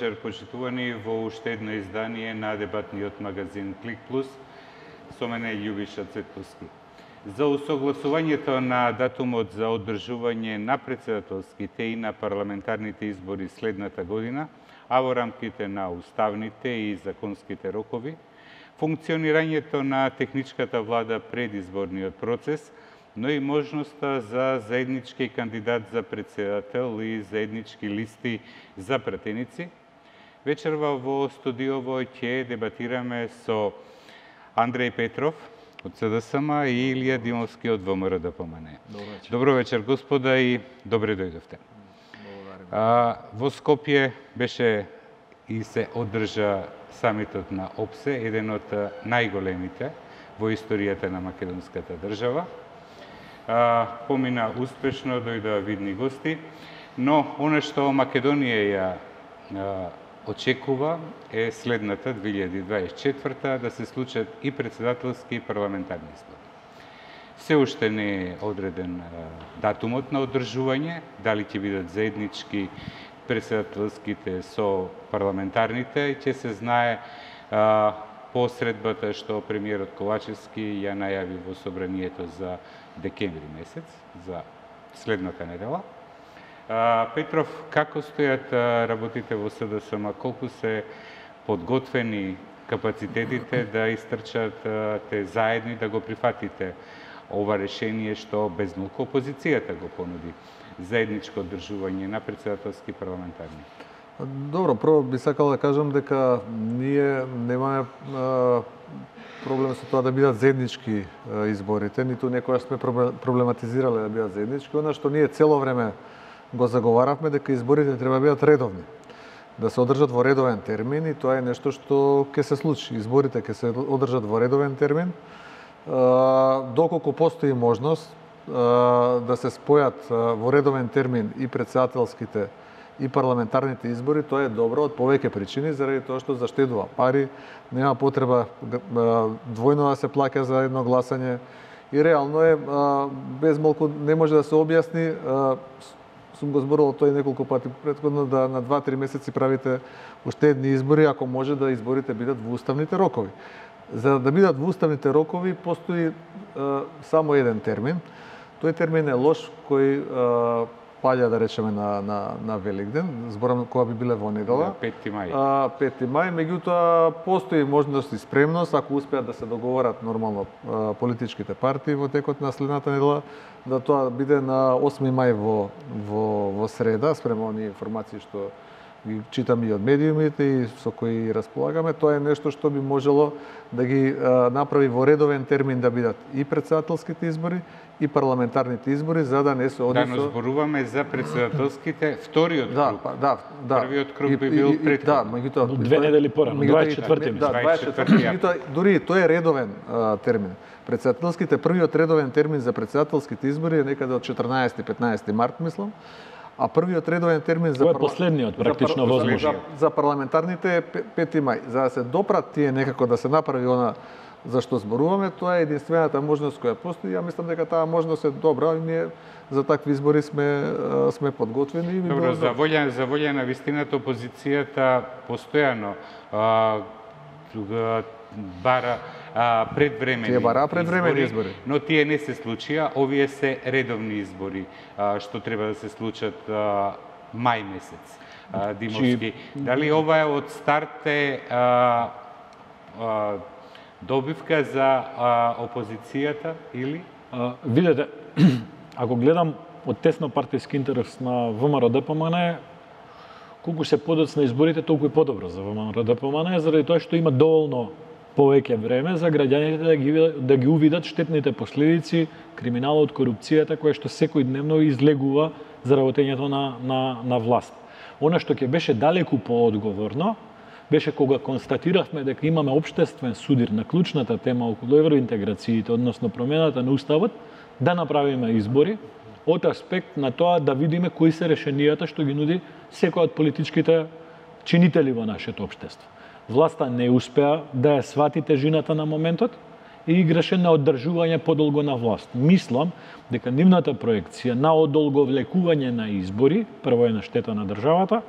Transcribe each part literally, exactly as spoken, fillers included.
вечер, почитувани, во уште едно издание на дебатниот магазин Клик Плюс. Со мене Љубиша Цветковски. За усогласувањето на датумот за одржување на претседателските и на парламентарните избори следната година, а во рамките на уставните и законските рокови, функционирањето на техничката влада пред изборниот процес, но и можноста за заеднички кандидат за председател и заеднички листи за пратеници. Вечерва во студиово ќе дебатираме со Андреј Петров од С Д С М и Илија Димовски од В М Р Д П М Н. Добро вечер. Добро вечер, господа, и добре дојдовте. А, во Скопје беше и се одржа самитот на О П С Е, еден од најголемите во историјата на македонската држава. А, помина успешно, дојдоа видни гости, но она што Македонија ја а, очекува е следната две илјади дваесет и четврта да се случат и председателски и парламентарни избори. Се уште не е одреден а, датумот на одржување, дали ќе бидат заеднички председателските со парламентарните, ќе се знае а, по средбата што премиерот Ковачевски ја најави во собранието за декември месец, за следната недела. А, Петров, како стојат а, работите во С Д С М? Колку се подготвени капацитетите да истрчат а, те заедни да го прифатите ова решение што без малку опозицијата го понуди, заедничко одржување на председателски и парламентарни? Добро, прво би сакал да кажам дека ние немаме а, проблем со тоа да бидат заеднички а, изборите, ниту некојаш сме проблематизирале да бидат заеднички. Она што ние цело време го заговаравме дека изборите треба да бидат редовни, да се одржат во редовен термин, и тоа е нешто што ќе се случи. Изборите ќе се одржат во редовен термин, а, доколку постои можност а, да се спојат а, во редовен термин и председателските и парламентарните избори, тоа е добро од повеќе причини, заради тоа што заштедува пари, нема потреба двојно да се плаќа за едно гласање и реално е без малку не може да се објасни. Сум го зборувал тој неколку пати претходно, да на два-три месеци правите уште едни избори, ако може да изборите бидат во уставните рокови. За да бидат во уставните рокови постои само еден термин. Тој термин е лош, кој паѓа, да речеме, на, на, на Великден, зборам кога би биле во недела. Да, пети мај. А, пети мај, меѓутоа постои можност и спремност, ако успеат да се договорат нормално а, политичките партии во текот на следната недела, да тоа биде на осми мај во, во, во среда, спрема оние информации што ги читам и од медиумите и со кои располагаме. Тоа е нешто што би можело да ги а, направи во редовен термин да бидат и председателските избори и парламентарните избори, за да не се оди со... Да, но зборуваме за председателските, вториот круг. Да, па, да, да. Првиот круг би бил претходно. Да, меѓутоа две недели порано, дваесет и четврти. Да, дваесет и четврти. Меѓутоа дури тој е редовен а, термин. Председателските, првиот редовен термин за председателските избори е некаде од четрнаесети-петнаесети март, мислам. А првиот редовен термин за Тоа е последниот практично возможен. За, за парламентарните е пети мај. За да се допрат тие некако да се направи она за што зборуваме, тоа е единствената можност која постои. Ја мислам дека таа можност е добра и ние за такви избори сме сме подготвени. Добро, за волја за волја на вистината опозицијата постојано а, бара а, предвремени тие бара предвремени избори, избори, но тие не се случија. Овие се редовни избори а, што треба да се случат а, мај месец. А, Димовски, дали ова е од старт е а, а, добивка за а, опозицијата или? А, видете, ако гледам од тесно партиски интерес на В М Р Д П М Н, колку се подоцна изборите, толку и подобро за В М Р Д П М Н, заради тоа што има доволно повеќе време за граѓаните да ги, да ги увидат штетните последици, криминалот, корупцијата, која што секојдневно излегува за работењето на, на, на власт. Она што ќе беше далеку поодговорно, беше кога констатиравме дека имаме општествен судир на клучната тема околу евроинтеграциите, односно промената на уставот, да направиме избори од аспект на тоа да видиме кои се решенијата што ги нуди секој од политичките чинители во нашето општество. Власта не успеа да ја свати тежината на моментот и играше на одржување подолго на власт. Мислам дека нивната проекција на одолговлекување на избори, прво е на штета на државата,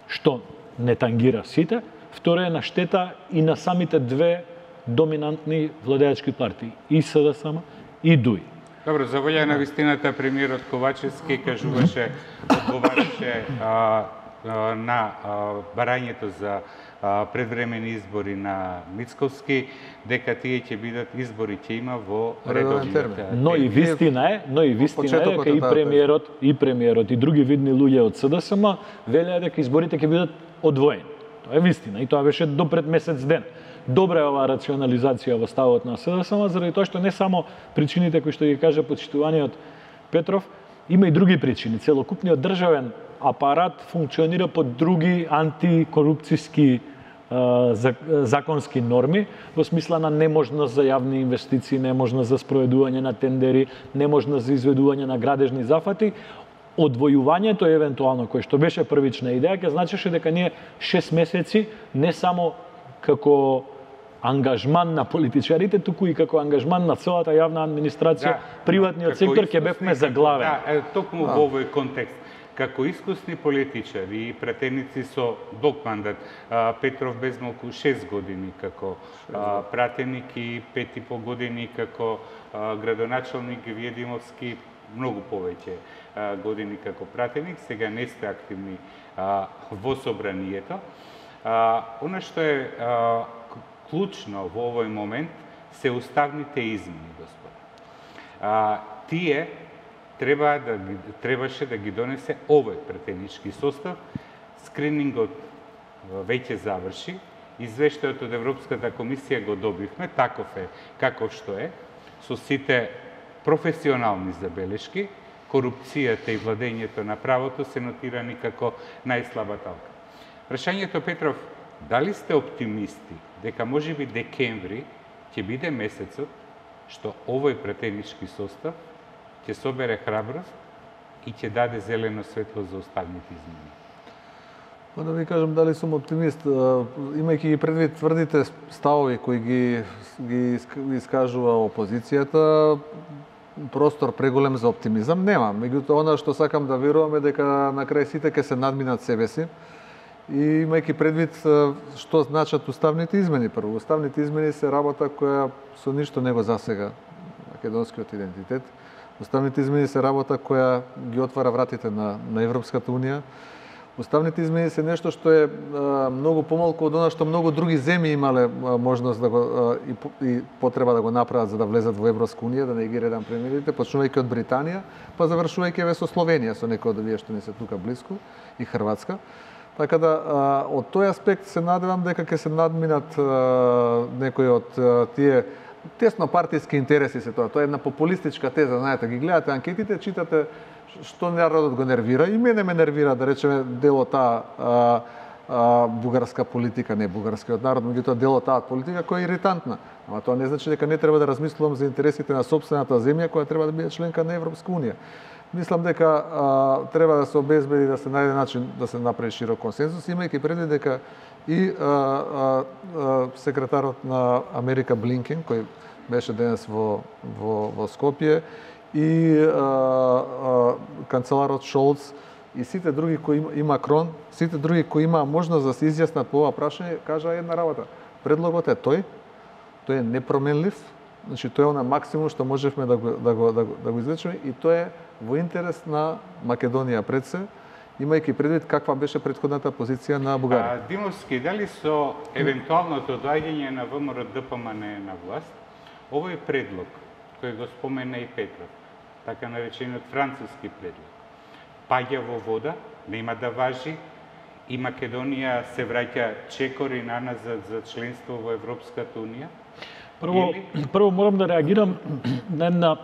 што не тангира сите, второ е на штета и на самите две доминантни владеачки партии, и СДСМ и ДУИ. Добро, за волја на вистината, премиерот Ковачевски кажуваше, одговараше а, а, на а, барањето за а, предвремени избори на Мицковски, дека тие ќе бидат избори ќе има во редовните. Но и вистина е, но и вистина е дека и премиерот, и премиерот и други видни луѓе од СДСМ велеа дека изборите ќе бидат одвоени. Тоа е вистина и тоа беше до пред месец ден. Добра е оваа рационализација во ставот на СДСМ, заради тоа што не само причините кои што ги кажа почитуваниот Петров, има и други причини. Целокупниот државен апарат функционира по други антикорупцијски законски норми, во смисла на неможност за јавни инвестиции, неможност за спроведување на тендери, неможност за изведување на градежни зафати. Одвојувањето евентуално кој што беше првична идеја, ќе значеше дека ние шест месеци не само како ангажман на политичарите, туку и како ангажман на целата јавна администрација, да, приватниот сектор ќе бевме заглавени. Да, токму во овој контекст. Како искусни политичари и пратеници со долг мандат, Петров без малку шест години како пратеник и пет и пол години како градоначалник, вие Димовски многу повеќе години како пратеник, сега не сте активни во собранието. Она што е клучно во овој момент се уставните измени, господа. Тие треба да требаше да ги донесе овој пратенички состав. Скринингот веќе заврши, извештајот од Европската комисија го добивме, таков е каков што е, со сите професионални забелешки, корупцијата и владењето на правото се нотирани како најслаба талка. Прашањето, Петров, дали сте оптимисти дека можеби декември ќе биде месецот што овој пратенички состав ќе собере храброст и ќе даде зелено светло за останатите измени? Па да ви кажам дали сум оптимист, имајќи ги предвид тврдите ставови кои ги, ги искажува опозицијата, простор преголем за оптимизам нема. Меѓутоа, она што сакам да верувам е дека на крај сите ќе се надминат себе си. И имајќи предвид што значат уставните измени. Прво, уставните измени се работа која со ништо не го засега македонскиот идентитет. Уставните измени се работа која ги отвара вратите на, на Европската Унија. Уставните измени се нешто што е а, многу помалку од она што многу други земји имале а, можност да го а, и, и потреба да го направат за да влезат во Европска Унија, да не ги редам премиерите, почнувајќи од Британија, па завршувајќи со Словенија, со некои од овие што не се тука близко, и Хрватска. Така да, од тој аспект се надевам дека ќе се надминат а, некои од а, тие тесно партиски интереси се тоа. Тоа е една популистичка теза, знаете, ги гледате анкетите, читате што народот го нервира. И мене ме нервира, да речеме, дел од таа а, а, бугарска политика, не бугарскиот народ, меѓутоа дел од таа политика која е иритантна. Ама тоа не значи дека не треба да размислувам за интересите на сопствената земја која треба да биде членка на Европска Унија. Мислам дека а, треба да се обезбеди да се најде начин да се направи широк консенсус, имајќи предвид дека и а, а, а, секретарот на Америка Блинкен, кој беше денес во, во, во Скопје, и а, а, канцеларот Шолц, и сите други кои има, и Макрон, сите други кои има можност да се изјаснат по ова прашање, кажа една работа. Предлогот е тој, тој е непроменлив, значи тој е на максимум што можевме да го, да го, да го, да го извлечеме, и тоа е во интерес на Македонија пред се, имајќи предвид каква беше претходната позиција на Бугарија. А, Димовски, дали со евентуалното доаѓање на ВМРО-ДПМН на власт, овој предлог кој го спомена и Петров, така наречениот француски предлог, паѓа во вода, нема да важи, и Македонија се враќа чекори наназад за членство во Европската Унија? Прво, Или... прво морам да реагирам на една,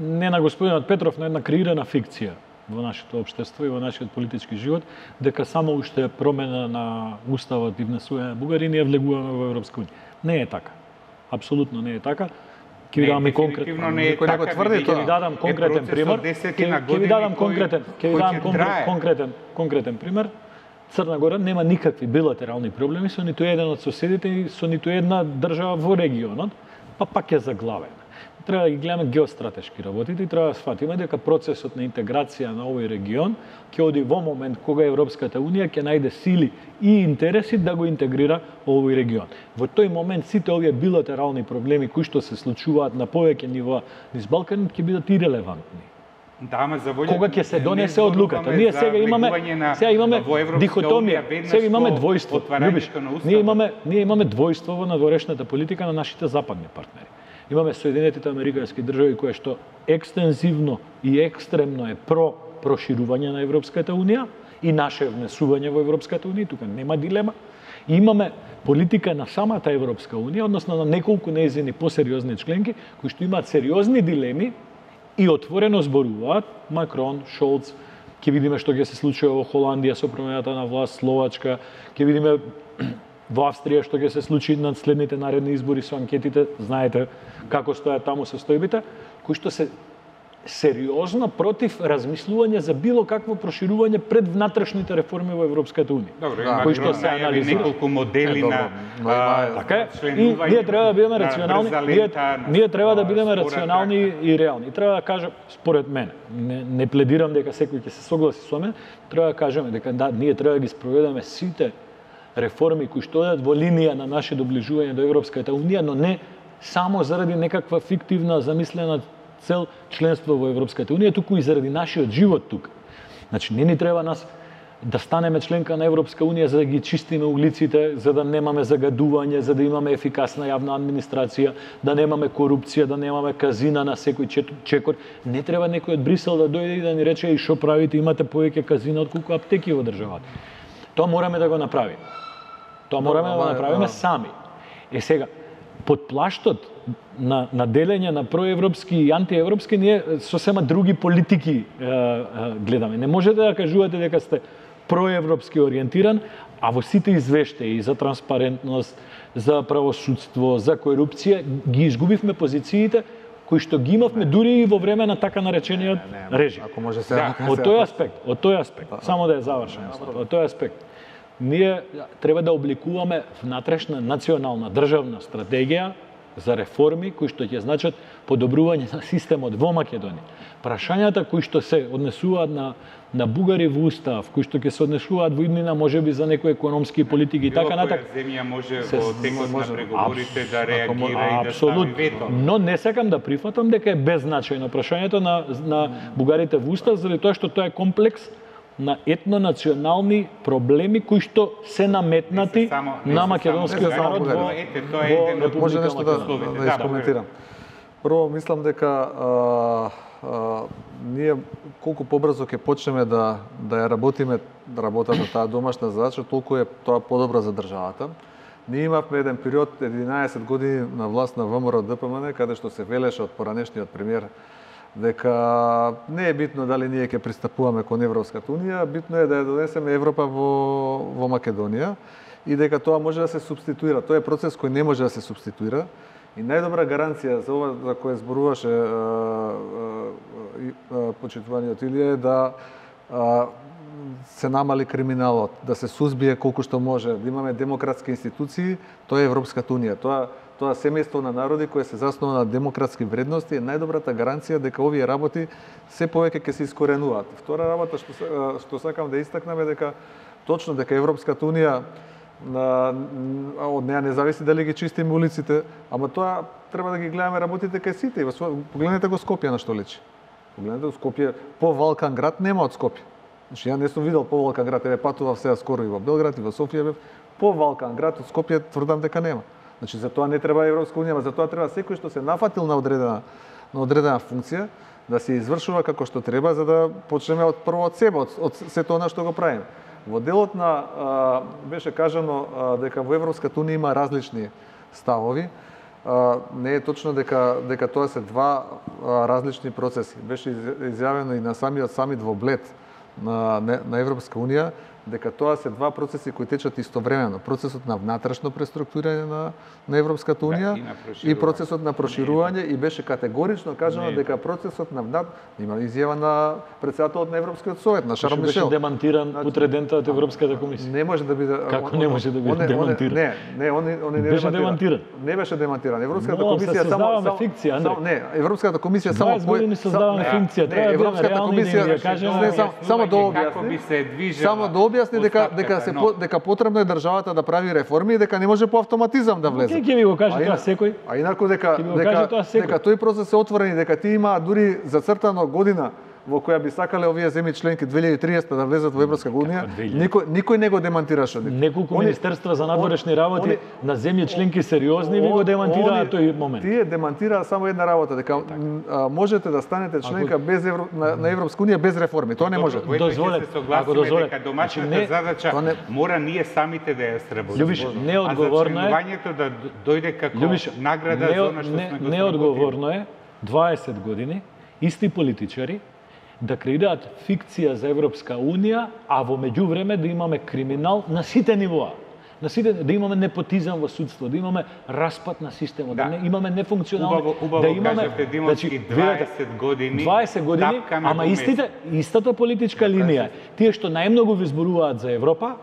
не на господинот Петров, на една креирана фикција во нашето општество и во нашиот политички живот, дека само уште промена на уставот и внесување на Бугарија ние влегуваме во Европска Унија. Не е така. Апсолутно не е така. Ќе ви дадам конкретно. Не е така, ќе ви дадам конкретен пример. Ќе ви дадам конкретен, ќе ви дадам конкретен, конкретен пример. Црна Гора нема никакви билатерални проблеми со ниту еден од соседите и со ниту една држава во регионот, па пак е заглавена. Треба да ги гледаме геостратешки работите и треба да сфатиме дека процесот на интеграција на овој регион ќе оди во момент кога Европската унија ќе најде сили и интереси да го интегрира овој регион. Во тој момент сите овие билатерални проблеми кои што се случуваат на повеќе нива низ Балканот ќе бидат ирелевантни. Да, ама за волја... Кога ќе се донесе одлуката? Ние сега имаме сега имаме дихотомија, сега имаме двојство. Любиш, ние имаме ние имаме двојство во надворешната политика на нашите западни партнери. Имаме Соединетите американски држави кои што екстензивно и екстремно е про проширување на Европската унија и наше внесување во Европската унија, тука нема дилема. И имаме политика на самата Европска унија, односно на неколку нејзини посериозни членки кои што имаат сериозни дилеми и отворено зборуваат. Макрон, Шолц, ќе видиме што ќе се случи во Холандија со промената на власт, Словачка, ќе видиме во Австрија што ќе се случи на следните наредни избори со анкетите, знаете како стојат таму состојбите, кои што се сериозно против размислување за било какво проширување пред внатрешните реформи во Европската унија. Добро, да, кои што се анализираат неколку модели на така е. И ние треба да бидеме рационални, ние, ние треба да бидеме рационални и реални. И треба да кажам, според мене, не, не пледирам дека секој ќе се согласи со мене, треба да кажеме дека да, ние треба да ги спроведеме сите реформи кои што одат во линија на наше доближување до Европската унија, но не само заради некаква фиктивна замислена цел членство во Европската унија, туку и заради нашиот живот тука. Значи, не ни треба нас да станеме членка на Европска унија за да ги чистиме улиците, за да немаме загадување, за да имаме ефикасна јавна администрација, да немаме корупција, да немаме казина на секој чекор. Не треба некој од Брисел да дојде и да ни рече и што правите, имате повеќе казина отколку аптеки во државата. Тоа мораме да го направиме. Тоа мораме да го направиме сами. Е сега, под плаштот на, на делење на проевропски и антиевропски, ние сосема други политики е, е, гледаме. Не можете да кажувате дека сте проевропски ориентиран, а во сите извештаи за транспарентност, за правосудство, за корупција, ги изгубивме позициите кои што ги имавме дури и во време на така наречениот режим. Ако може се да, од тој аспект, од тој аспект, само да ја завршам, од тој аспект, ние треба да обликуваме внатрешна национална државна стратегија за реформи кои што ќе значат подобрување на системот во Македонија. Прашањата кои што се однесуваат на на бугари во устав, кои што ќе се однесуваат во иднина можеби за некои економски политики и така натаму. Било која земја може во текот на преговорите да реагира и да стави вето. Но не сакам да прифатам дека е беззначајно прашањето на на бугарите во устав, заради тоа што тоа е комплекс на етнонационални проблеми кои што се наметнати само, на македонскиот народ во, во Република Може нешто да, Македонија. да искоментирам. Прво, мислам дека а, а, ние колку побрзо ќе почнеме да да ја работиме работата таа домашна задача, толку е тоа подобро за државата. Ние имавме еден период единаесет години на власт на ВМРО Д П М Н, каде што се велеше од поранешниот премиер дека не е битно дали ние ќе пристапуваме кон Европската унија, битно е да ја донесеме Европа во во Македонија и дека тоа може да се субституира. Тоа е процес кој не може да се субституира. И најдобра гаранција за ова за кое зборуваше почитуваниот Илија е да а, се намали криминалот, да се сузбие колку што може, да имаме демократски институции, тоа е Европската унија. Тоа тоа семејство на народи кое се заснова на демократски вредности е најдобрата гаранција дека овие работи се повеќе ќе се искоренуваат. Втора работа што што сакам да истакнам е дека точно дека Европската унија на од неа не зависи дали ги чистиме улиците, ама тоа треба да ги гледаме работите кај сите. Погледнете го Скопје на што личи. Погледнете го Скопје, по Валкан град нема од Скопје. Значи ја не сум видел по Валкан град, еве патував сега скоро и во Белград и во Софија бев, по Валкан град од Скопје тврдам дека нема. Значи за тоа не треба Европска унија, ама за тоа треба секој што се нафатил на одредена на одредена функција да се извршува како што треба за да почнеме од прво од себе, од, од сето она што го правиме. Во делот на а, беше кажано а, дека во Европската унија има различни ставови. А, не е точно дека дека тоа се два а, различни процеси. Беше изјавено и на самиот самит во Блед на на Европска унија дека тоа се два процеси кои течат истовремено. Процесот на внатрешно преструктурирање на, на Европската унија да, и, и процесот на проширување и беше категорично кажано дека процесот на внат има изјава на председателот на Европскиот совет, на Шарл Мишел. Беше демантиран утредента од Европската комисија. Не може да биде. Како не може да биде демантиран? Не, не, они они не беше демантиран. Не беше демантиран. Европската Но, комисија само само фикција, само не, Европската комисија само дваесет години создаваме фикција, треба да бидеме реални и да кажеме само да објасни. Само да објасни дека дека се но... дека потребно е државата да прави реформи и дека не може по автоматизам да влезе. Ке ќе ви го каже тоа секој? А инаку дека дека дека тој процес е отворен и дека ти има дури зацртано година во која би сакале овие земји членки две илјади и триесета да влезат во Европска унија, никој никој не го демантираше. Неколку министерства за надворешни работи на земји членки сериозни ви го демантираа тој момент. Тие демантираа само една работа, дека можете да станете членка без евро, на, на Европска унија без реформи. Тоа не може. Дозволете, ако дозволете, дека домашната задача не... мора ние самите да ја сработиме. Љубиш, неодговорно е. А зачленувањето да дојде како Љубиш, награда не, за она што не, сме го неодговорно е дваесет години исти политичари да креираат фикција за Европска унија, а во меѓувреме да имаме криминал на сите нивоа. На сите, да имаме непотизам во судство, да имаме распад на системот, да, да не, имаме нефункционални, убаво, убаво да имаме кажавте, Димовски, дваесет години, дваесет години, ама истите, истата политичка линија. Тие што најмногу ви зборуваат за Европа,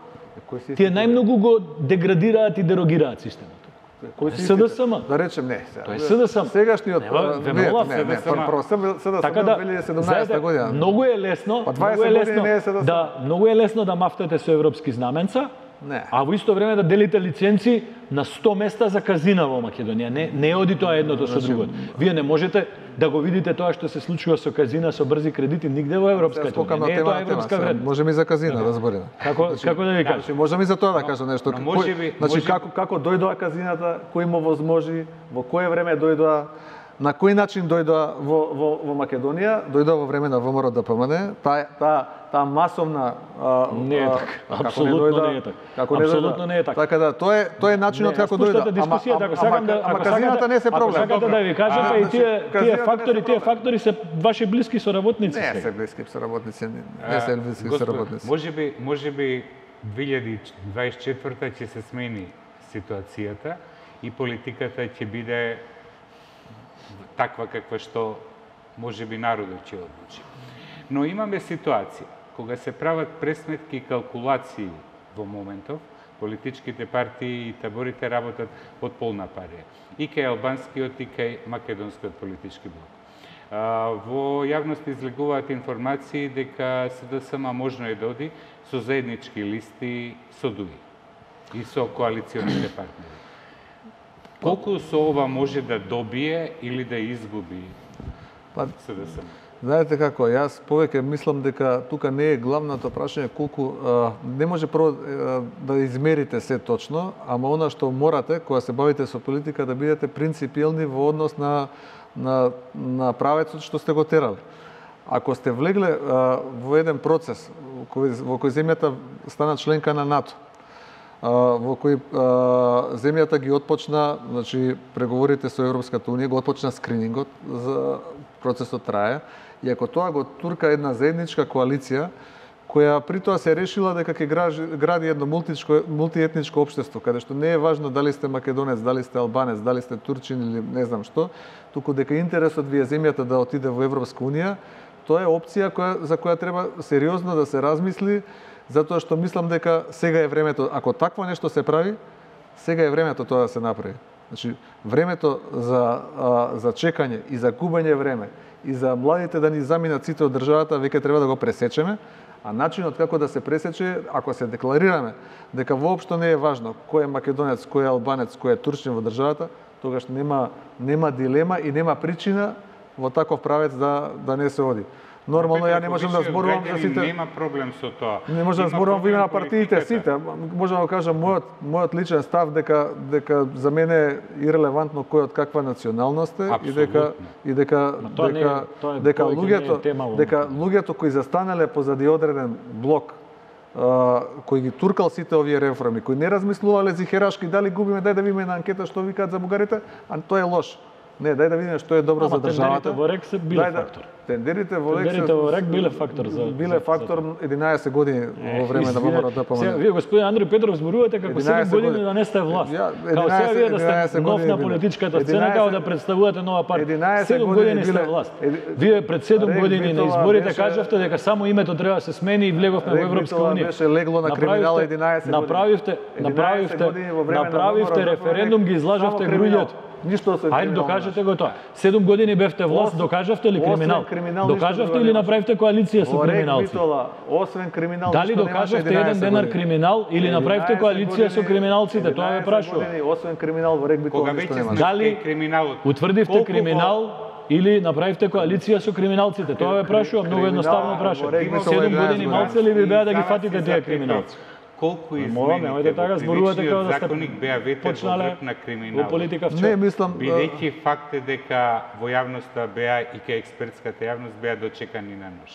тие најмногу го деградираат и дерогираат системот. Кој си СДСМ? Да речем не. Тоа е СДСМ. Сегашниот не, не, не, прво СДСМ така да, две илјади и седумнаесета година. Многу е лесно, многу е лесно да многу е лесно да мафтате со европски знаменца. Не. А во исто време да делите лиценци на сто места за казина во Македонија. Не, не оди тоа едното со другото. Вие не можете да го видите тоа што се случува со казина, со брзи кредити нигде во Европската унија. Не е тоа европска вредност. Можеме и за казина да збориме. Како како да ви кажам? Значи можеме и за тоа да кажам нешто. Значи како како дојдоа казината, кој му возможи, во кое време дојдоа, на кој начин дојдоа во во во Македонија, дојдоа во време на ВМРО д П М Н, таа таа таа масовна а, не е така. Апсолутно не е така. Како не Апсолутно не е така. Така да тоа е тоа е начинот како дојде. Ама ако сакам да ама казината не се проблем. Ако сакате да ви кажам, па и тие тие фактори, тие фактори се ваши блиски соработници. Не се блиски соработници, не се блиски соработници. Можеби можеби две илјади дваесет и четврта ќе се смени ситуацијата и политиката ќе биде таква каква што можеби народот ќе одлучи. Но имаме ситуација кога се прават пресметки и калкулации во моментов, политичките партии и таборите работат од полна парија. И кај албанскиот и кај македонскиот политички блок. А, во јавност излегуваат информации дека СДСМ можно е да оди со заеднички листи со ДУИ и со коалиционите партнери. Колку со ова може да добие или да изгуби СДСМ? Знаете како, јас повеќе мислам дека тука не е главното прашање колку а, не може прво а, да измерите се точно, ама она што морате кога се бавите со политика да бидете принципиелни во однос на на на правецот што сте го терали. Ако сте влегле а, во еден процес кој, во кој земјата стана членка на НАТО, а, во кој а, земјата ги отпочна, значи преговорите со Европската унија, го отпочна скринингот, за процесот трае, и ако тоа го турка една заедничка коалиција, која при тоа се решила дека ќе гради едно мултичко, мултиетничко општество, каде што не е важно дали сте македонец, дали сте албанец, дали сте турчин или не знам што, туку дека интересот ви е земјата да отиде во Европска унија, тоа е опција која, за која треба сериозно да се размисли, затоа што мислам дека сега е времето, ако такво нешто се прави, сега е времето тоа да се направи. Значи, времето за, а, за чекање и за губење време и за младите да ни заминат сите од државата, веќе треба да го пресечеме, а начинот како да се пресече, ако се декларираме дека воопшто не е важно кој е македонец, кој е албанец, кој е турчин во државата, тогаш нема нема дилема и нема причина во таков правец да да не се оди. Нормално ја не можам да зборувам за сите. Нема проблем со тоа. Не можам да зборувам во име на партиите сите. Можам да кажам мојот мојот личен став дека дека за мене е ирелевантно кој од каква националност е и дека и дека дека дека луѓето дека луѓето кои застанале позади одреден блок кој ги туркал сите овие реформи, кои не размислувале зихерашки дали губиме, дај да видиме на анкета што викаат за бугарите, а тоа е лош. Не, дај да видиме што е добро Ама за државата. тендерите во РЕК се биле Дај да- фактор. Тендерите во РЕК Тендерите во РЕК биле фактор за биле за- фактор единаесет години во време на Извине, ВМРО сега ДПМН. вие господин Андреј Петров зборувате како седум единаесет години години. да не сте власт. Ја, Као сега вие да единаесет сте нов години на биле. политичката сцена, единаесет као да представувате нова партија. единаесет седум години години сте биле- власт. еди- Вие пред седум Рек години на Битола изборите беше- кажавте дека само името треба да се смени и влеговме во Рек Европска Битола унија. беше легло на криминал единаесет години. Направивте, единаесет направивте, години во време на направивте ВМРО референдум, ги излажавте само криминал. граѓето. Ништо освен Ајде криминал докажете го тоа. седум години бевте власт, Освен- докажавте ли освен криминал? криминал ништо Докажавте друго или немаше. направивте коалиција со Во Рек криминалци? Битола, освен криминал, Дали ништо немаше докажавте еден единаесет денар години. криминал или направивте единаесет коалиција со години- криминалците? Тоа ве единаесет прашувам. години, освен криминал во Рек Битола Кога ништо веќе немаше. сме Дали кај криминалот, утврдивте Колку криминал или направивте коалиција со криминалците? Тоа ве прашувам, многу Криминал едноставно во прашувам. Рек Битола седум единаесет години години. малце ли ви беа да ги Издава фатите се тие за криминалци? Колку Молам, немојте измените така во зборувате како да кривичниот сте законник беа ветер во почнале грб на во криминалот. политика Не, вчера. мислам, а, Бидејќи факт е дека во јавноста беа и кај експертската јавност беа дочекани на нож.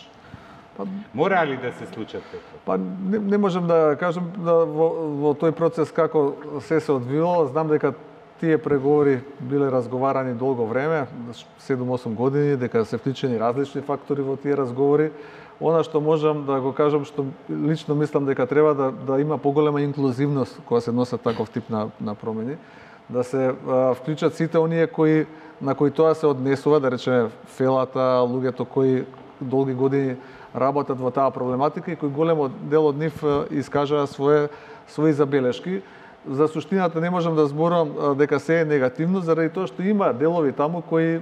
Мора ли да се случат така? па не, не можам да кажам да во, во тој процес како се се одвивало, знам дека тие преговори биле разговарани долго време, седум-осум години, дека се вклучени различни фактори во тие разговори. Она што можам да го кажам, што лично мислам дека треба да, да има поголема инклузивност кога се носат таков тип на, на промени, да се а, вклучат сите оние кои на кои тоа се однесува, да речеме фелата, луѓето кои долги години работат во таа проблематика и кои големо дел од нив а, искажаа своje своји забелешки. За суштината не можам да зборувам а, дека се е негативно, заради тоа што има делови таму кои, а,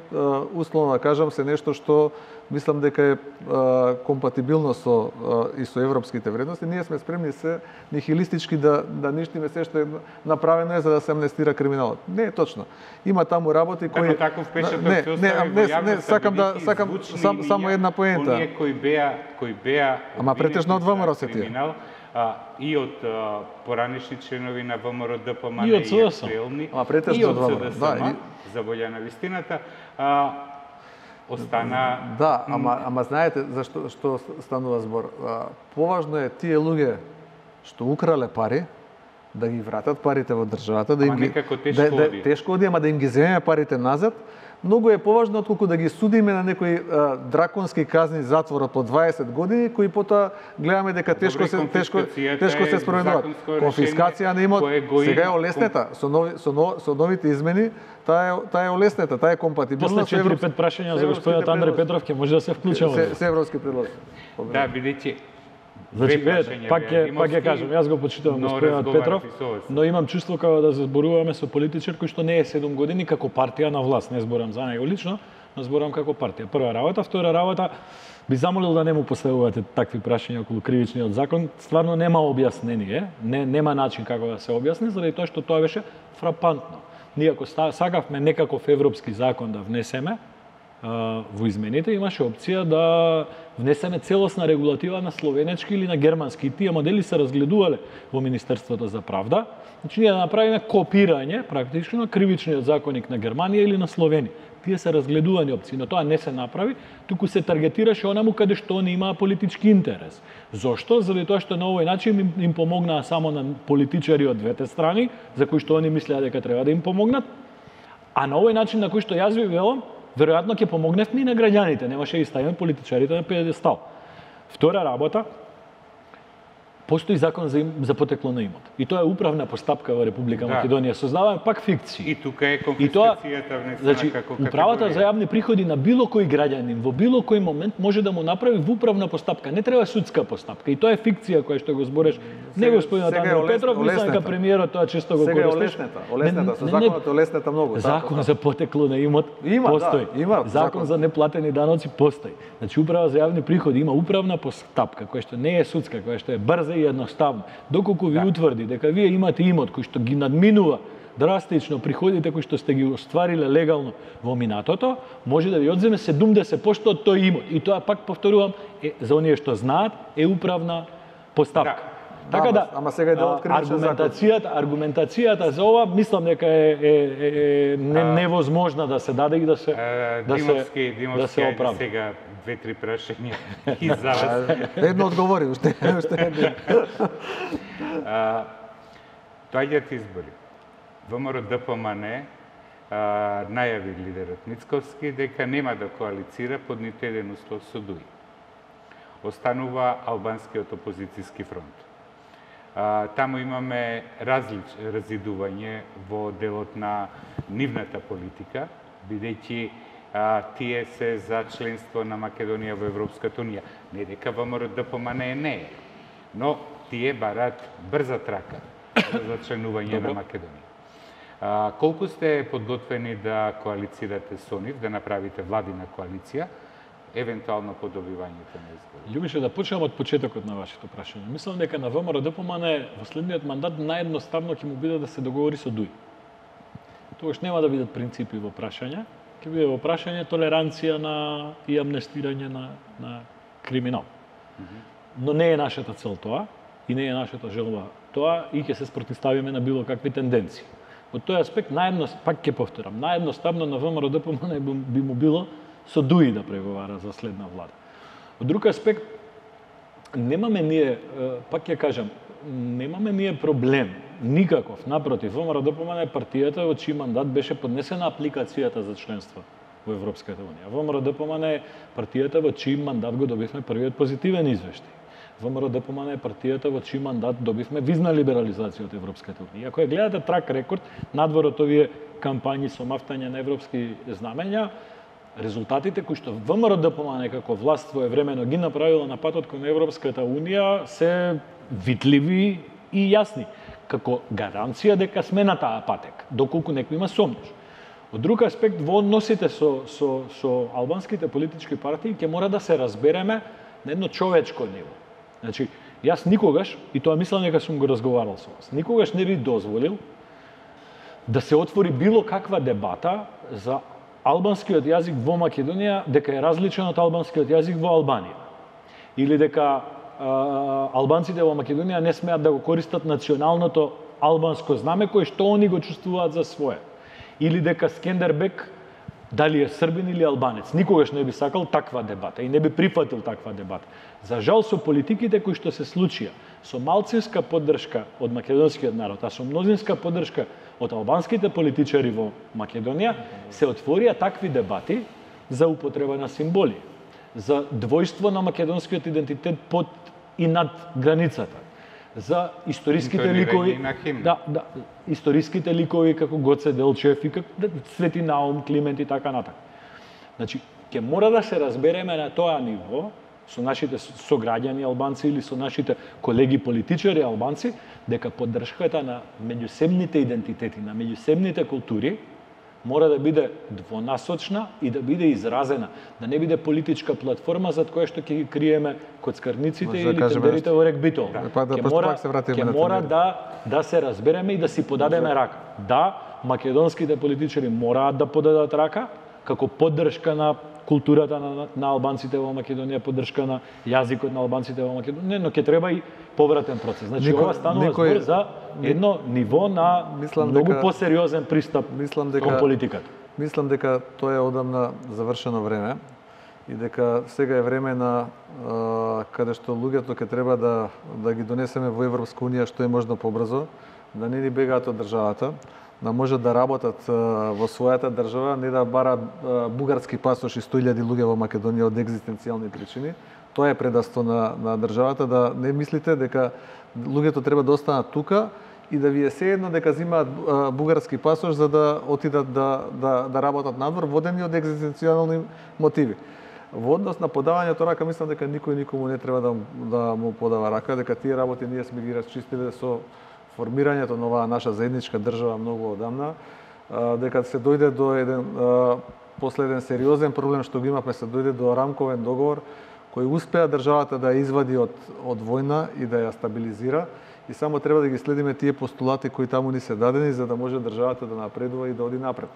условно да кажам, се нешто што мислам дека е а, компатибилно со а, и со европските вредности. Ние сме спремни се нихилистички да да ништиме се што е направено е за да се амнестира криминалот. Не е точно. Има таму работи кои Како таков печаток не, се не, остави не, во не, јавноста, сакам да бидејќи сакам звучни сам, само имиња, една поента. Оние кои беа кои беа Ама претежно од обвинети ВМРО за се тие. криминал, а, и од а, поранишни членови на ВМРО ДПМН И од и СДСМ. актуелни, Ама претежно и од од ВМРО, СДСМ, да, и- за волја на вистината, а, остана... Да, ама ама знаете зашто што станува збор? А, поважно е тие луѓе што украле пари да ги вратат парите во државата, да им Ама ги некако тешко да, да, оди. тешко оди, ама да им ги земеме парите назад. Многу е поважно отколку да ги судиме на некои а, драконски казни затвор по дваесет години, кои потоа гледаме дека тешко се тешко конфискацијата тешко се е спроведуваат. законско Конфискација на имот кое го сега е има. олеснета со нови со, но, со новите измени, таа е таа е олеснета, таа е компатибилна После со европ- четири-пет прашања со за господинот европските Андреј предлози. Петров ќе може да се вклучаме. Се, се европски предлози. Да, бидејќи Значи, две видете, прашања пак беа ќе пак ќе Димовски, кажам, јас го почитувам но господинот разговарав Петров, и со вас. но имам чувство како да се зборуваме со политичар кој што не е седум години како партија на власт, не зборам за него лично, но зборам како партија. Прва работа, втора работа, би замолил да не му поставувате такви прашања околу кривичниот закон, стварно нема објаснение, не нема начин како да се објасни, заради тоа што тоа беше фрапантно. Ние ако сакавме некаков европски закон да внесеме, во измените имаше опција да внесеме целосна регулатива на словенечки или на германски. И тие модели се разгледувале во Министерството за правда. Значи ние да направиме копирање практично на кривичниот законник на Германија или на Словенија. Тие се разгледувани опции, но тоа не се направи, туку се таргетираше онаму каде што они имаа политички интерес. Зошто? Заради тоа што на овој начин им, им помогнаа само на политичари од двете страни, за кои што они мислеа дека треба да им помогнат, а на овој начин на кој што јас ви велам, веројатно ќе помогневме и на граѓаните, немаше и ставиме политичарите на педестал. Втора работа, постои закон за, им, за потекло на имот. И тоа е управна постапка во Република Да. Македонија. Создаваме пак фикции. И тука е И тоа, конфискацијата внесена значи, како управата за категорија. јавни приходи на било кој граѓанин во било кој момент може да му направи во управна постапка. Не треба судска постапка. И тоа е фикција која што го збореш. Не Сега- господинот сега е Андреј олес- Петров, мислам дека олеснета. премиерот тоа често го Сега е користиш. олеснета, олеснета, со Не, не, не. законот е олеснета многу. Закон така, за потекло на имот Има, да, постои. има Закон закон. за неплатени даноци постои. Значи управа за јавни приходи има управна постапка која што не е судска, која што е брза и едноставна. Доколку ви утврди дека вие имате имот кој што ги надминува драстично приходите кои што сте ги оствариле легално во минатото, може да ви одземе седумдесет проценти од тој имот. И тоа пак повторувам, е, за оние што знаат, е управна постапка. Да. Така Да, да, ама- ама сега е дел од а, кривичен закон. аргументацијата, аргументацијата за ова мислам дека е, е, е, е не, невозможна да се даде и да се Е, да Димовски, се Димовски, да се ајде оправда. сега две-три прашања и за вас. Едно одговори, уште уште едно. А, доаѓаат избори. ВМРО ДПМН а, најави лидерот Мицковски дека нема да коалицира под ниту еден услов со ДУИ. Останува албанскиот опозицијски фронт. А, таму имаме различ, разидување во делот на нивната политика, бидејќи а, тие се за членство на Македонија во Европската унија. Не дека ВМРО-ДПМН не е, но тие барат брза трака за членување на Македонија. А, колку сте подготвени да коалицирате со нив, да направите владина коалиција, евентуално по добивањето на избори? Љубише, да почнем од почетокот на вашето прашање. Мислам дека на ВМРО-ДПМН во следниот мандат наједноставно ќе му биде да се договори со ДУИ. Тогаш нема да бидат принципи во прашање, ќе биде во прашање толеранција на и амнестирање на, на криминал. Mm -hmm. Но не е нашата цел тоа и не е нашата желба тоа и ќе се спротивставиме на било какви тенденции. Од тој аспект, наедност, пак ќе повторам, наједноставно на ВМРО-ДПМН би му било со ДУИ да преговара за следна влада. Од друг аспект, немаме ние, пак ќе кажам, немаме ние проблем, никаков, напротив, ВМРО-ДПМН е партијата во чиј мандат беше поднесена апликацијата за членство во Европската унија. ВМРО-ДПМН е партијата во чиј мандат го добивме првиот позитивен извештај. ВМРО-ДПМН е партијата во чиј мандат добивме визна либерализација од Европската унија. Ако ја гледате трак рекорд, надвор од овие кампањи со мафтање на европски знамења, резултатите кои што ВМРО-ДПМН како власт своевремено ги направила на патот кон Европската унија се видливи и јасни, како гаранција дека сме на таа патек, доколку некој има сомнеш. Од друг аспект, во односите со, со, со албанските политички партии ќе мора да се разбереме на едно човечко ниво. Значи, јас никогаш, и тоа мислам дека сум го разговарал со вас, никогаш не би дозволил да се отвори било каква дебата за албанскиот јазик во Македонија дека е различен од албанскиот јазик во Албанија. Или дека а, албанците во Македонија не смеат да го користат националното албанско знаме кое што они го чувствуваат за свое. Или дека Скендербек дали е србин или албанец. Никогаш не би сакал таква дебата и не би прифатил таква дебата. За жал, со политиките кои што се случија, со малцинска поддршка од македонскиот народ, а со мнозинска поддршка од албанските политичари во Македонија, се отворија такви дебати за употреба на символи, за двојство на македонскиот идентитет под и над границата, за историските ликови, да, да, историските ликови како Гоце Делчев и како Свети Наум, Климент и така натаму. Значи, ќе мора да се разбереме на тоа ниво со нашите сограѓани албанци или со нашите колеги политичари албанци, дека поддршката на меѓусебните идентитети, на меѓусебните култури, мора да биде двонасочна и да биде изразена, да не биде политичка платформа за која што ќе ги криеме коцкарниците или тендерите во регбито. Ќе мора, ќе мора да, да се разбереме и да си подадеме рака. Да, македонските политичари мораат да подадат рака, како поддршка на културата на, на албанците во Македонија, поддршка на јазикот на албанците во Македонија, но ќе треба и повратен процес. Значи, Нико, ова станува никој, збор за едно ниво на многу дека, посериозен пристап дека, кон политиката. Мислам дека тоа е одамна завршено време и дека сега е време на а, каде што луѓето ќе треба да, да ги донесеме во Европска унија што е можно побрзо, да не ни бегаат од државата, да можат да работат во својата држава, не да бараат бугарски пасош и сто илјади луѓе во Македонија од екзистенцијални причини. Тоа е предавство на, на државата, да не мислите дека луѓето треба да останат тука и да ви е сеедно дека земаат бугарски пасош за да отидат да, да, да работат надвор, водени од екзистенцијални мотиви. Во однос на подавањето рака, мислам дека никој никому не треба да, да му подава рака, дека тие работи ние сме ги расчистиле со формирањето на оваа наша заедничка држава многу одамна, дека се дојде до еден последен сериозен проблем што го имавме, се дојде до рамковен договор кој успеа државата да ја извади од од војна и да ја стабилизира, и само треба да ги следиме тие постулати кои таму ни се дадени за да може државата да напредува и да оди напред.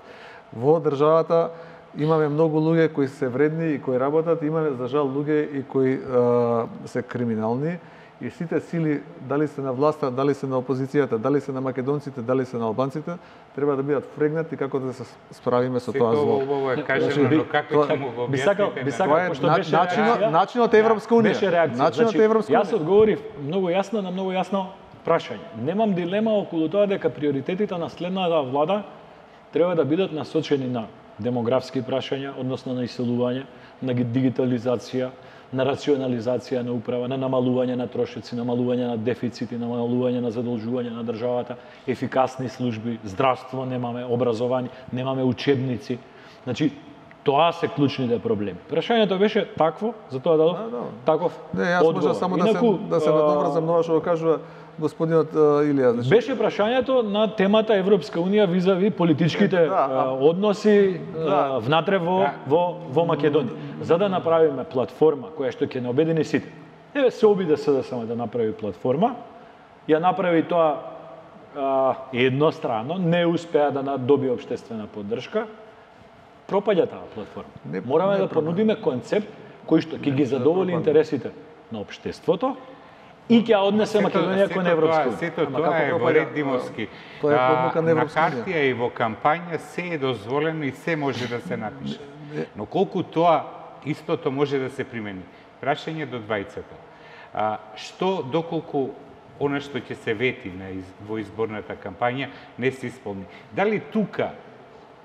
Во државата имаме многу луѓе кои се вредни и кои работат, имаме за жал луѓе и кои а, се криминални. И сите сили, дали се на власта, дали се на опозицијата, дали се на македонците, дали се на албанците, треба да бидат фрегнати како да се справиме со тоа зло. Ово е кажено, но како ќе му го објасните? Тоа е начинот, начинот е Европска унија. Беше реакција. Начинот е Европска унија. Јас одговорив многу јасно на многу јасно прашање. Немам дилема околу тоа дека приоритетите на следната влада треба да бидат насочени на демографски прашања, односно на иселување, на дигитализација, на рационализација на управа, на намалување на трошоци, намалување на дефицити, намалување на задолжување на државата, ефикасни служби, здравство немаме, образование, немаме учебници. Значи, тоа се клучните проблеми. Прашањето беше такво, затоа дадов да, да. таков Не, јас може само Инаку, да се да се надоврзам на ова што го кажува господинот Илија. Значи... Беше прашањето на темата Европска унија визави политичките е, да, а... односи да. внатре во, да. во, во Македонија. За да направиме платформа која што ќе не обедини сите. Еве се обиде се да само да направи платформа, ја направи тоа а, еднострано, не успеа да добие општествена поддршка, пропаѓа таа платформа. Не, Мораме не да понудиме концепт кој што ќе ги задоволи интересите на општеството и ќе однесе Македонија кон Европска унија. Сето тоа е во ред Димовски. Тоа е одлука на На Европска унија. картија и во кампања се е дозволено и се може да се напише. Но колку тоа истото може да се примени? Прашање до двајцата. А, што доколку она што ќе се вети на из, во изборната кампања не се исполни? Дали тука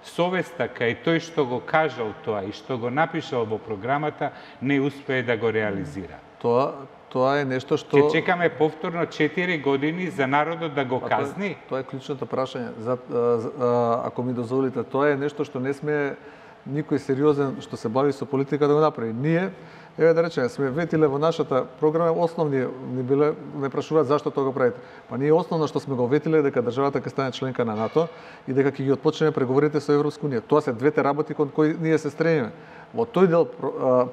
совеста кај тој што го кажал тоа и што го напишал во програмата не успее да го реализира? Тоа тоа е нешто што Ќе чекаме повторно четири години за народот да го казни? Тоа е, тоа е клучното прашање. За, а, а, ако ми дозволите, тоа е нешто што не сме никој сериозен што се бави со политика да го направи. Ние, еве да речеме, сме ветиле во нашата програма основни ни биле не прашуваат зашто тоа го правите. Па ние основно што сме го ветиле е дека државата ќе стане членка на НАТО и дека ќе ги отпочнеме преговорите со Европска унија. Тоа се двете работи кон кои ние се стремиме. Во тој дел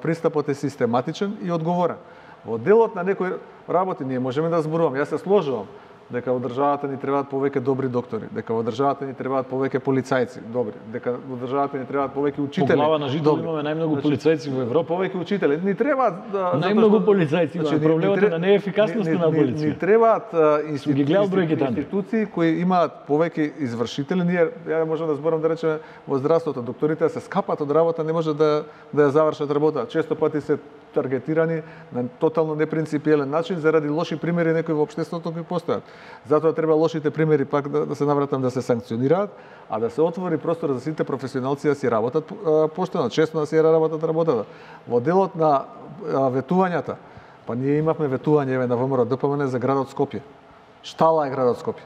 пристапот е систематичен и одговорен. Во делот на некои работи ние можеме да зборуваме. Јас се сложувам дека во државата ни требаат повеќе добри доктори, дека во државата ни требаат повеќе полицајци, добри, дека во државата ни требаат повеќе учители. По глава на жител имаме најмногу полицајци во Европа. Повеќе учители. Ни требаат да најмногу полицајци, значи, проблемот е на неефикасноста на полиција. Ни требаат институции, институции кои имаат повеќе извршители. Ние ја можеме да зборам да речеме во здравството, докторите се скапат од работа, не може да да ја завршат работа. Често пати се таргетирани на тотално непринципиелен начин заради лоши примери некои во општеството кои постојат. Затоа треба лошите примери пак да, да се навратам да се санкционираат, а да се отвори простор за сите професионалци да си работат поштено, честно да си работат работата. Во делот на а, ветувањата, па ние имавме ветување еве на ВМРО Д П М Н за градот Скопје. Штала е градот Скопје.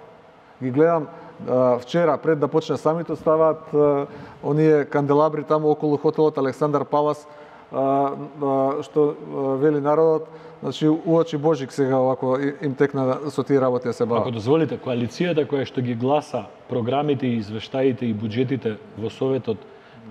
Ги гледам а, вчера пред да почне самитот ставаат а, оние канделабри таму околу хотелот Александар Палас, а, а, што а, вели народот. Значи, уочи Божик сега овако им текна со тие работи да се бават. Ако дозволите, коалицијата која што ги гласа програмите и извештаите и буџетите во Советот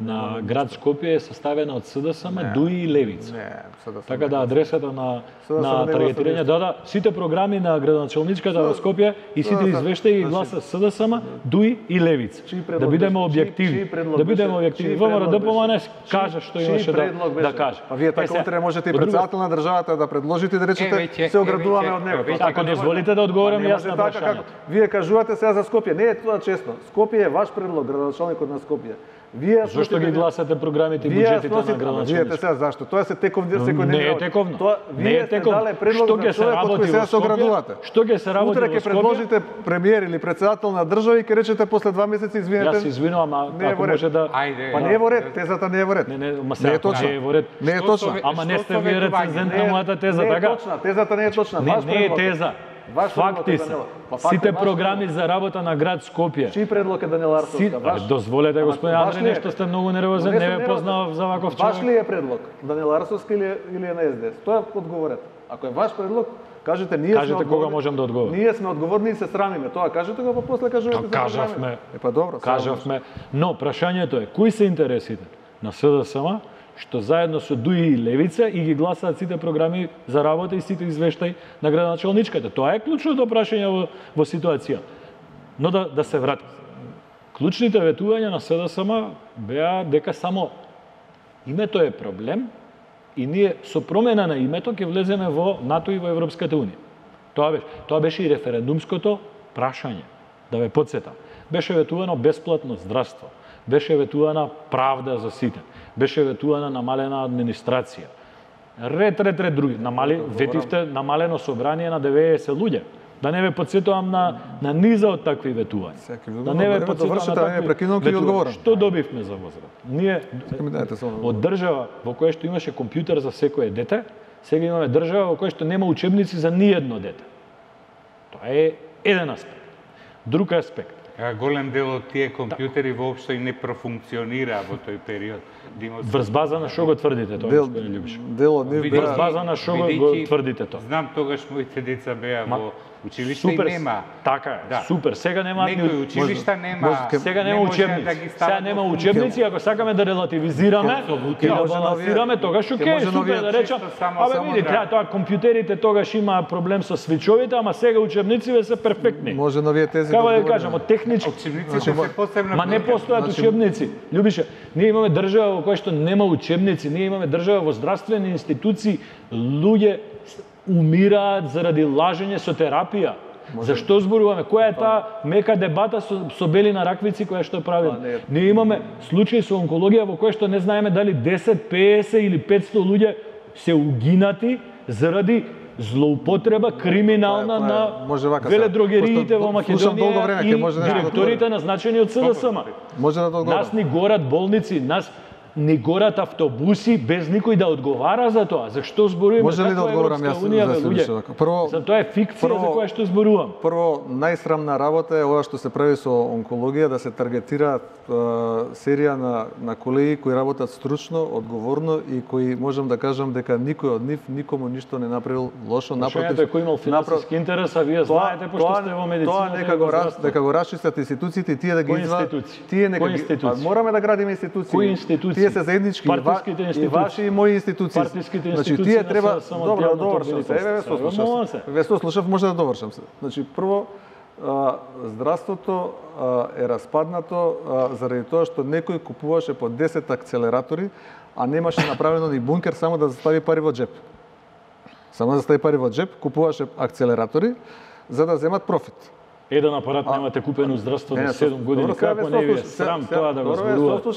на град Скопје е составена од С Д С М, ДУИ и Левица. Не, С Д С М. Така да адресата на на таргетирање, да, да, сите програми на градоначалничката во Скопје и сите извештаи ги гласа С Д С М, ДУИ и Левица. Да бидеме објективни. Да бидеме објективни. ВМРО Д П М Н кажа што имаше да да каже. А вие така утре можете и претседател на државата да предложите да речете се оградуваме од него. Ако дозволите да одговорам јас на прашањето. Вие кажувате сега за Скопје, не е тоа честно. Скопје е ваш предлог, градоначалникот на Скопје. Вие зошто ги гласате програмите и буџетите на градоначалниците? Видете сега зашто? Тоа се тековни секојдневни. Не е тековно. Тоа не е тековно. Што ќе се работи во Скопје? Што ќе се работи во Скопје? Утре ќе предложите премиер или претседател на држава и ќе речете после два месеци извинете. Јас се извинувам, а ако може да Па не е во ред, тезата не е во ред. Не, не, ма се точно. Не е во ред. Не е точно. Ама не сте вие рецензент на мојата теза, така? Не е точна, тезата не е точна. Не е теза. Факти се. Сите програми за работа на град Скопје. Чиј предлог е Даниела Арсовска? Ваш? Дозволете, господин Андре, нешто сте многу нервозен, не ве познавав за ваков човек. Ваш ли е предлог? Даниела Арсовска или, или е на С Д С? Тоа одговорете. Ако е ваш предлог, кажете ние кажете сме кога можам да одговорам. Ние сме одговорни и се срамиме. Тоа кажете го, па после кажувате за кажавме. Е па добро. Кажавме. Но прашањето е кои се интересите на С Д С М што заедно со ДУИ и Левица и ги гласаат сите програми за работа и сите извештаи на градоначалничката. Тоа е клучното прашање во, во ситуација. Но да, да се вратим. Клучните ветувања на С Д С М беа дека само името е проблем и ние со промена на името ќе влеземе во НАТО и во Европската унија. Тоа беше, тоа беше и референдумското прашање. Да ве потсетам. Беше ветувано бесплатно здравство. Беше ветувана правда за сите. Беше ветувана намалена администрација. Ред, ред, ред други. Намали, ветивте намалено собрание на деветдесет луѓе. Да не ве подсетувам на на низа од такви ветувања. Да не ве подсетувам на такви ветувања. Што добивме за возврат? Ние од држава во која што имаше компјутер за секое дете, сега имаме држава во која што нема учебници за ниедно дете. Тоа е еден аспект. Друг аспект. Голем дел од тие компјутери воопшто и не профункционира во тој период. Врз база на што го тврдите тоа, господин Љубиш? Дел од нив врз база на што го тврдите тоа? Знам, тогаш моите деца беа во училиште и нема. Така е, да. Супер. Сега нема некои училишта нема. Сега нема учебници. Да сега нема учебници, ако сакаме да релативизираме и да балансираме, тогаш окей, супер да речам. Абе види, треба тоа компјутерите тогаш имаа проблем со свичовите, ама сега учебниците се перфектни. Може новие тези. Како да кажам, од технички учебниците се посебно. Ма не постојат учебници. Љубише, ние имаме држава во која што нема учебници, ние имаме држава во здравствени институции, луѓе умираат заради лажење со терапија. Може. Зашто зборуваме? Која е таа мека дебата со, со Белина Раквици која што правиме? Не. Ние имаме случаи со онкологија во која што не знаеме дали десет, песет или петсто луѓе се угинати заради злоупотреба криминална на веледрогериите во Македонија и директорите назначени од С Д С М. Може да одговорам. Нас ни горат болници, нас ни горат автобуси без никој да одговара за тоа. Зашто зборуваме? Може ли да одговорам јас за луѓе? Прво, за тоа е фикција прво, за која што зборувам. Прво, најсрамна работа е ова што се прави со онкологија, да се таргетираат е, серија на на колеги кои работат стручно, одговорно и кои можам да кажам дека никој од нив никому ништо не направил лошо, напротив. Што е кој имал финансиски интерес, а вие знаете пошто сте во медицината. Тоа нека го раз, дека го расчистат институциите и тие да ги извадат. Тие нека ги, мораме да градиме институции. Кои институции? Тие се заеднички, и ваши и мои институции. Партиските институции. Значи тие треба добро да довршам се. Еве ве сослушав. Ве сослушав, може да довршам се. Значи прво здравството е распаднато заради тоа што некој купуваше по десет акцелератори, а немаше направено ни бункер само да застави пари во джеп. Само да застави пари во джеп, купуваше акцелератори за да земат профит. Еден апарат а, немате купено здравство до седум години, добро, како не ви е срам се, тоа да го зборувате?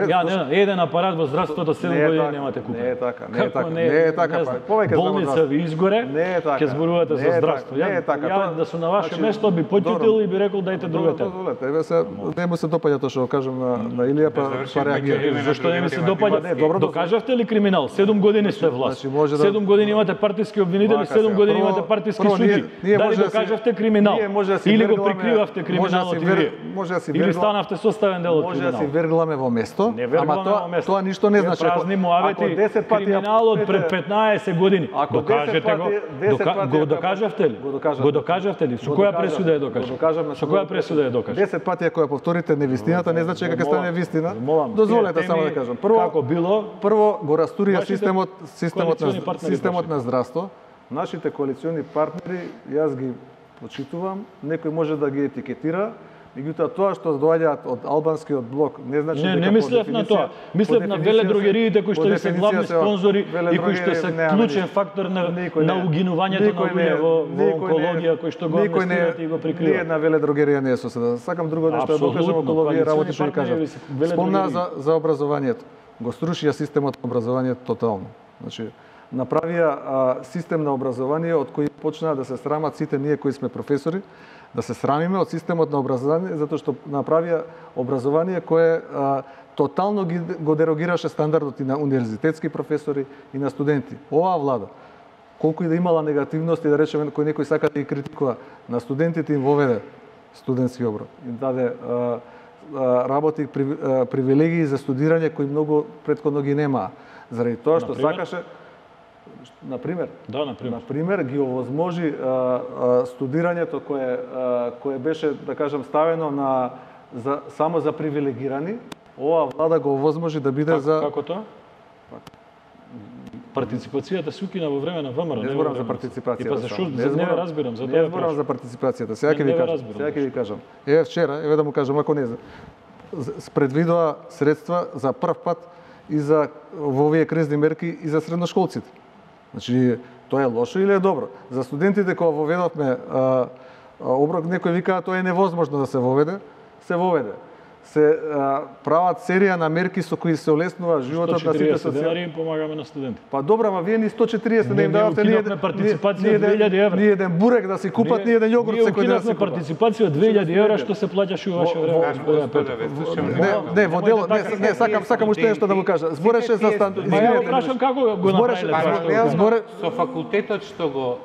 Ја, не, еден апарат во здравството седум години така, немате купено. Не е така, не е така, не е така. Повеќе болница ви изгоре, ќе зборувате за здравство. Не е така. Ја да сум на ваше место би поќутил и би рекол дајте другата. Еве се, не му се допаѓа тоа што кажам на на Илија, па па реагира. Зашто не ми се допаѓа? Докажавте ли криминал? седум години сте власт. седум години имате партиски обвинители, седум години имате партиски судии. Дали докажавте криминал? Или го прикривавте криминалот и вие? Може да си или станавте составен дел од може криминал? Може да си вергламе во место, ама тоа тоа ништо не значи. Празни муавети, криминалот пред петнаесет години. Докажете го, го докажавте ли? Го докажавте ли? Со која пресуда е докажав? Со која пресуда е докажав? десет пати ако ја повторите невистината, не значи дека ќе стане вистина. Дозволете само да кажам. Прво како било? Прво го растурија системот, системот на системот на здравство. Нашите коалициони партнери, јас ги почитувам, некој може да ги етикетира, меѓутоа тоа што доаѓаат од албанскиот блок не значи не, дека не мислев на тоа. Мислев на веледрогериите кои што ви се главни спонзори и кои што се клучен фактор на на угинувањето на луѓе во онкологија кои што го инвестираат и го прикриваат. Ни една веледрогерија не е соседа. Сакам друго нешто да покажам околу овие работи што ви кажам. Спомна за за образованието. Го срушија системот на образованието тотално. Значи направија а, систем на образование од кој почнаа да се срамат сите ние кои сме професори, да се срамиме од системот на образование затоа што направија образование кое а, тотално ги, го дерогираше стандардот и на универзитетски професори и на студенти. Оваа влада, колку и да имала негативности, да речеме кој некој сака да ги критикува, на студентите им воведе студентски оброк, им даде а, а, работи при, а, привилегии за студирање кои многу претходно ги немаа. Заради тоа што сакаше Например, да, например. например ги овозможи а, а, студирањето кое а, кое беше да кажам ставено на за само за привилегирани, оваа влада го овозможи да биде как, за како тоа? Партиципацијата се укина во време на ВМРО, не зборам за партиципацијата. И па зашто не, не разбирам за тоа. Не зборам за партиципацијата. Сега ќе ви кажам. Сега ќе ви кажам. Еве вчера, еве да му кажам ако не предвидоа средства за прв пат и за во овие кризни мерки и за средношколците. Значи, тоа е лошо или е добро? За студентите кога воведовме а, а, оброк, некој викаа тоа е невозможно да се воведе, се воведе. се а, прават серија на мерки со кои се олеснува животот на сите сто четириесет денари социјални. им помагаме на студенти. Па добра, ама вие ни сто четириесет не Не, им ние давате ни укинавме партиципација од две илјади евра. Ни еден бурек да си купат, ни еден јогурт секој ден да си Ние купат. партиципација од две илјади евра што се плаќаше у ваше време, господине Петров. Не, не, во дело, не, не, сакам, сакам уште нешто да му кажа. Збореше за стан... Ма ја го прашам како го Збореше- направиле тоа што го кажа. Зборе- Со факултетот што го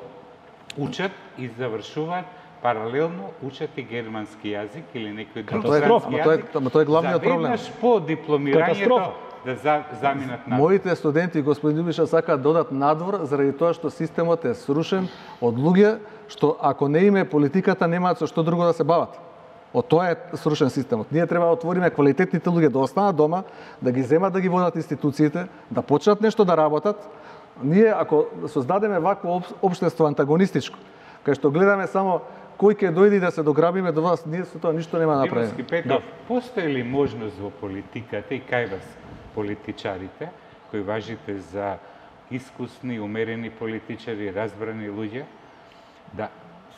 учат и завршуваат, паралелно учат и германски јазик или некој друг Катастрофа. странски Ама тоа е- јазик. ама тоа е главниот проблем. Заведнаш по дипломирањето Катастрофа. да за, заминат на. Моите студенти, господин Љубиша, сакаат да одат надвор заради тоа што системот е срушен од луѓе што ако не име политиката немаат со што друго да се бават. Од тоа е срушен системот. Ние треба да отвориме квалитетните луѓе да останат дома, да ги земат да ги водат институциите, да почнат нешто да работат. Ние ако создадеме вакво општество антагонистичко, кај што гледаме само кој ќе дојде да се дограбиме до вас, ние со тоа ништо нема да направиме. Димовски Петров, постои ли можност во политиката и кај вас политичарите, кои важите за искусни, умерени политичари, разбрани луѓе, да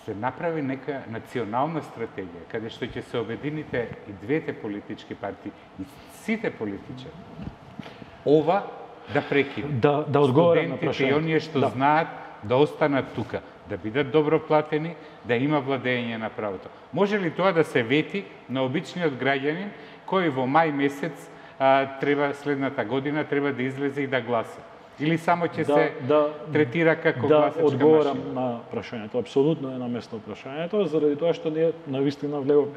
се направи нека национална стратегија, каде што ќе се обедините и двете политички партии, и сите политичари. Ова да прекине. Да, да одговорам на Студентите и прашањето. оние што Да. знаат да останат тука, да бидат добро платени, да има владење на правото. Може ли тоа да се вети на обичниот граѓанин кој во мај месец а, треба следната година треба да излезе и да гласа? Или само ќе Да, се да, третира како да гласачка одговорам машина? на прашањето. Апсолутно е на место прашањето, заради тоа што ние навистина влеговме.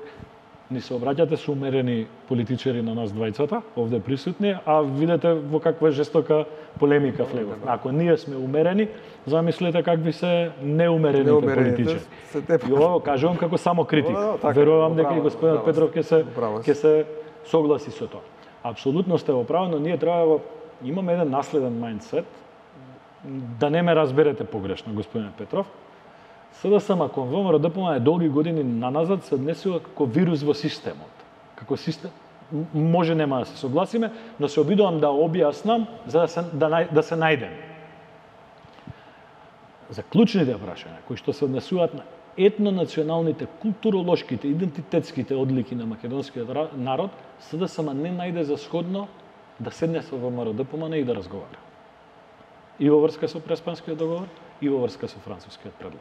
Ни се обраќате со умерени политичари на нас двајцата, овде присутни, а видете во каква жестока полемика влеговме. Ако ние сме умерени, замислете какви се неумерените Неумерените политичари. се те- И ова кажувам како само критик. Да, да, така, Верувам дека управо, и господинот управо Петров ќе се управо ќе се согласи со тоа. Апсолутно сте во право, но ние треба во- имаме еден наследен мајндсет, да не ме разберете погрешно, господине Петров. СДСМ кон ВМРО ДПМ е долги години наназад се однесува како вирус во системот. Како систем м- може нема да се согласиме, но се обидувам да објаснам за да се да, нај, да се најдеме. За клучните прашања кои што се однесуваат на етнонационалните, културолошките, идентитетските одлики на македонскиот ра- народ, СДСМ не најде за сходно да седне со ВМРО ДПМ и да разговара. И во врска со Преспанскиот договор, и во врска со францускиот предлог.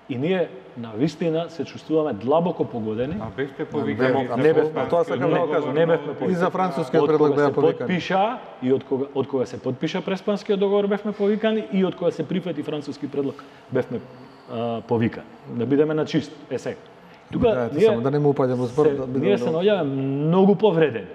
И ние на вистина се чувствуваме длабоко погодени. А бевте Не, повикани а за не бев- Преспанскиот а тоа сакам да го договор, кажам. Не бевме но- повикани. И за францускиот Од предлог кога беа се повикани. подпиша и од кога од кога се подпиша Преспанскиот договор бевме повикани и од кога се прифати француски предлог бевме а, повикани. Да бидеме на чист. Е сега. Тука Да, ето, само да не му упаѓам во збор, се- да бидеме ние се добро. наоѓаме многу повредени.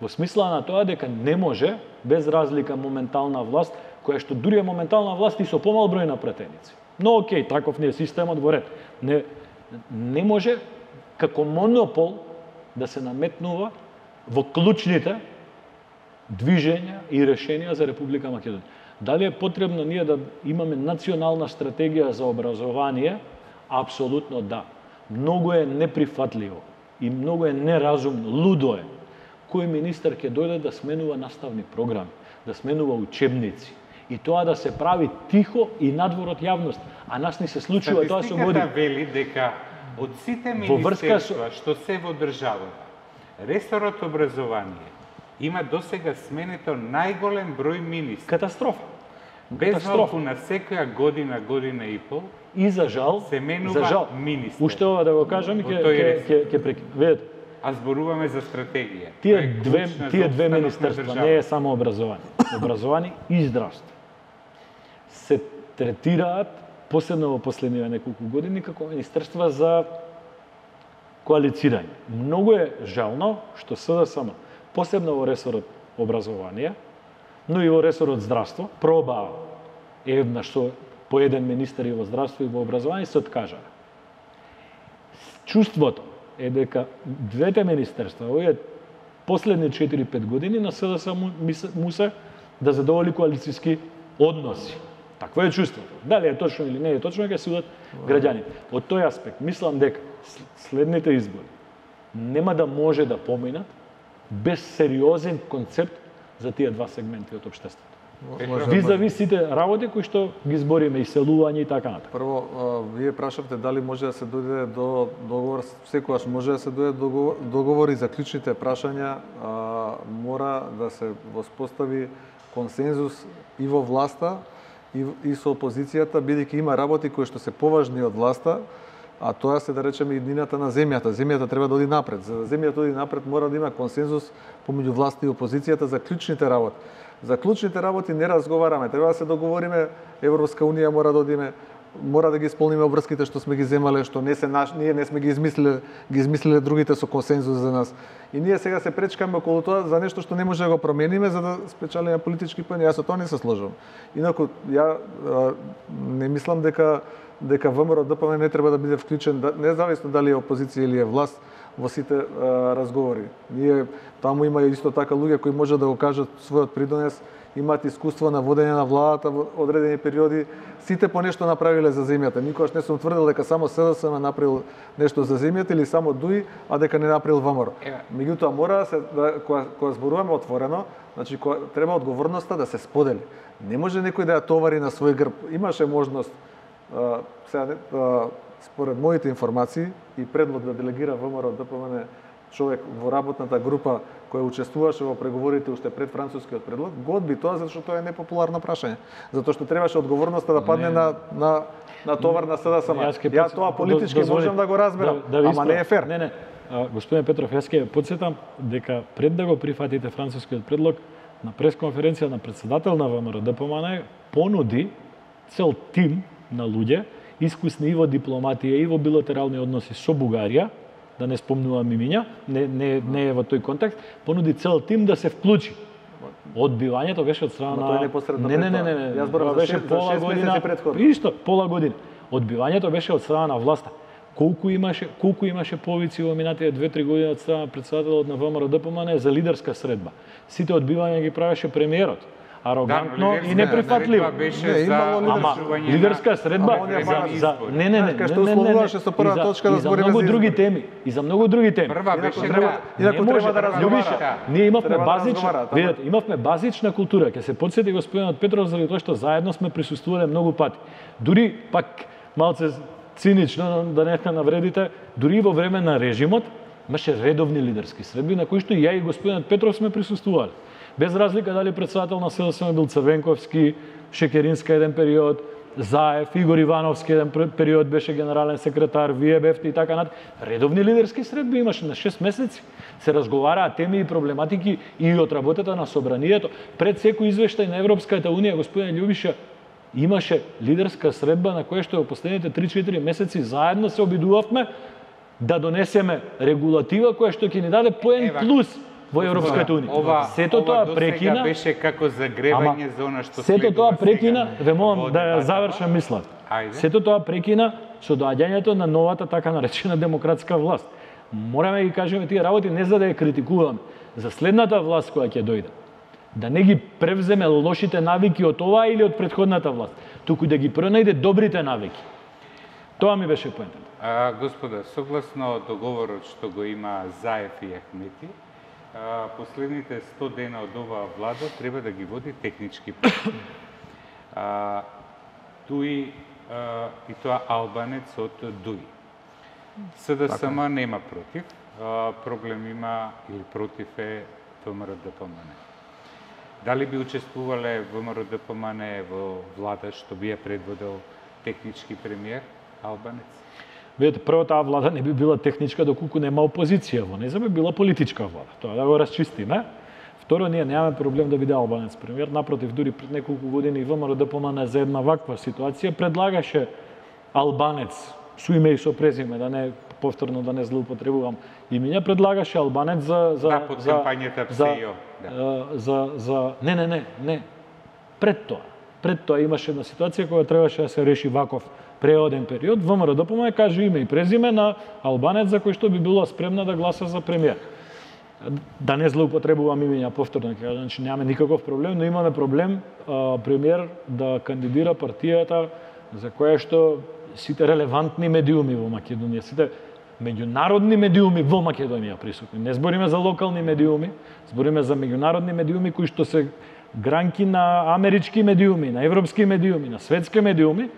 Во смисла на тоа дека не може без разлика моментална власт, која што дури е моментална власт и со помал број на пратеници. Но окей, таков ни е системот во ред. Не не може како монопол да се наметнува во клучните движења и решенија за Република Македонија. Дали е потребно ние да имаме национална стратегија за образование? Апсолутно да. Многу е неприфатливо и многу е неразумно, лудо е. Кој министер ќе дојде да сменува наставни програми, да сменува учебници и тоа да се прави тихо и надвор од јавност. А нас ни се случува тоа со години. Статистиката вели дека од сите Во врска со- министерства што се во државата, ресорот образование има досега сменето најголем број министри. Катастрофа. Без катастрофа. малку на секоја година, година и пол, И за жал, се менува за жал, министер. уште ова да го кажам и Во ќе тој ќе ресор. ќе ќе прекинам. Видете, а зборуваме за стратегија. тие која е две клучна за тие две опстанок на министерства државата. не е само образование. Образование и здравство се третираат посебно во последниве неколку години како министерства за коалицирање. Многу е жално што СДСМ, посебно во ресорот образование, но и во ресорот здравство, пробаа еднаш со по еден министер и во здравство и во образование се откажаа. Чувството е дека двете министерства, овие последни четири-пет години на СДСМ му, ми се- му се да задоволи коалициски односи. Такво е чувството. Дали е точно или не е точно, ќе судат граѓаните. Од тој аспект, мислам дека с- следните избори нема да може да поминат без сериозен концепт за тие два сегменти од општеството. Визави сите работи кои што ги збориме, иселување и така натаму. Прво, а, вие прашавте дали може да се дојде до договор, секогаш може да се дојде до договор, договор и за клучните прашања а, мора да се воспостави консензус и во власта и, и со опозицијата, бидејќи има работи кои што се поважни од власта, а тоа се да речеме иднината на земјата. Земјата треба да оди напред. За да земјата оди напред мора да има консензус помеѓу власта и опозицијата за клучните работи. За клучните работи не разговараме, треба да се договориме, Европска унија мора да одиме, мора да ги исполниме обврските што сме ги земале, што не се наш, ние не сме ги измислиле, ги измислиле другите со консензус за нас. И ние сега се пречкаме околу тоа за нешто што не може да го промениме за да спечелиме политички поени. Јас со тоа не се сложам. Инаку ја а, не мислам дека дека ВМРО Д П М не треба да биде вклучен, независно дали е опозиција или е власт, во сите а, разговори. Ние таму има исто така луѓе кои може да го кажат својот придонес, имаат искуство на водење на владата во одредени периоди, сите по нешто направиле за земјата. Никогаш не сум тврдел дека само С Д С М направил нешто за земјата или само Д У И, а дека не направил ВМРО. Меѓутоа мора да се да, кога, кога зборуваме отворено, значи кога, треба одговорноста да се сподели. Не може некој да ја товари на свој грб. Имаше можност а, сега а, според моите информации и предлог да делегира ВМРО Д П М човек во работната група која учествуваше во преговорите уште пред францускиот предлог, го одби тоа затоа што тоа е непопуларно прашање. Затоа што требаше одговорноста да падне не, на на на товар на С Д С М. Ја тоа политички можам да го разберам, да, да ама не е фер. Не, не. А, господин Петров, јас ќе потсетам дека пред да го прифатите францускиот предлог на пресконференција на председател на ВМРО Д П М понуди цел тим на луѓе искусни и во дипломатија и во билатерални односи со Бугарија, да не спомнувам имиња, не, не, не е во тој контекст, понуди цел тим да се вклучи. Одбивањето беше од страна на... непосредно не, не, не, не, не, Јас зборам за шест месеци претходно. Исто, пола година. Одбивањето беше од страна на власта. Колку имаше, колку имаше повици во минатите две-три години од страна на председателот на ВМРО Д П М за лидерска средба. Сите одбивања ги правеше премиерот. Арогантно да, и неприфатливо. Беше не, за Ама лидерска средба за, за не не не не што условуваше со прва точка да збориме за многу за други теми и за многу други теми. Прва беше треба, инаку треба да разговара. Ние имавме Треба да базична, разговара, видете, имавме базична култура. Ќе се потсети господинот Петров заради тоа што заедно сме присуствувале многу пати. Дури пак малце цинично да не ка навредите, дури во време на режимот имаше редовни лидерски средби на кои што и ја и господинот Петров сме присуствувале. Без разлика дали председател на С Д С М бил Црвенковски, Шекеринска еден период, Заев, Игор Ивановски еден период беше генерален секретар, вие бевте и така над. Редовни лидерски средби имаше на шест месеци. Се разговараа теми и проблематики и од работата на собранието. Пред секој извештај на Европската унија, господин Љубиша, имаше лидерска средба на која што во последните три-четири месеци заедно се обидувавме да донесеме регулатива која што ќе ни даде поен плюс во Европската унија. Ова, сето ова тоа прекина беше како загревање за она што сето тоа прекина, ве молам во да ја дебатата. завршам мисла. Ајде. Сето тоа прекина со доаѓањето на новата така наречена демократска власт. Мораме да ги кажеме тие работи не за да ја критикуваме, за следната власт која ќе дојде. Да не ги превземе лошите навики од оваа или од претходната власт, туку да ги пронајде добрите навики. Тоа ми беше поентата. А, господа, согласно договорот што го има Заев и Ахмети, а, последните сто дена од оваа влада треба да ги води технички преговори. А, Дуи а, и тоа албанец од Дуи. С Д С М нема против, а, проблем има или против е ВМРО Д П М. Дали би учествувале ВМРО Д П М во влада што би ја предводел технички премиер албанец? Видете, прво таа влада не би била техничка доколку нема опозиција во неја, би била политичка влада. Тоа да го расчистиме. Второ, ние немаме проблем да биде албанец премиер. Напротив, дури пред неколку години ВМРО Д П М за една ваква ситуација предлагаше албанец со име и со презиме, да не повторно да не злоупотребувам имиња, предлагаше албанец за за да, под за кампањата ПСИО, да. за за не не не не пред тоа. Пред тоа имаше една ситуација која требаше да се реши ваков преоден период. ВМРО Д П М каже име и презиме на албанец за кој што би била спремна да гласа за премиер. Да не злоупотребувам имиња повторно, ќе кажам, значи немаме никаков проблем, но имаме проблем а, премиер да кандидира партијата за која што сите релевантни медиуми во Македонија, сите меѓународни медиуми во Македонија присутни. Не збориме за локални медиуми, збориме за меѓународни медиуми кои што се гранки на амерички медиуми, на европски медиуми, на светски медиуми,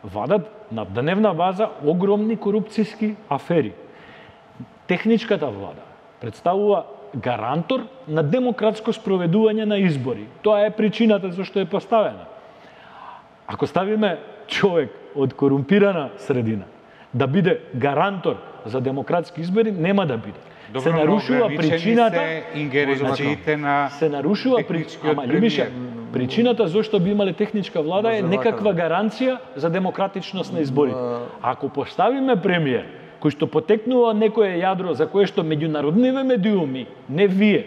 вадат на дневна база огромни корупцијски афери. Техничката влада представува гарантор на демократско спроведување на избори. Тоа е причината зашто е поставена. Ако ставиме човек од корумпирана средина да биде гарантор за демократски избори, нема да биде. Добро, се нарушува причината, се ингеренциите на се нарушува при... Ама Љубише, причината зашто би имале техничка влада е некаква гаранција за демократичност на изборите. Ако поставиме премиер кој што потекнува некое јадро за кое што меѓународниве медиуми, не вие,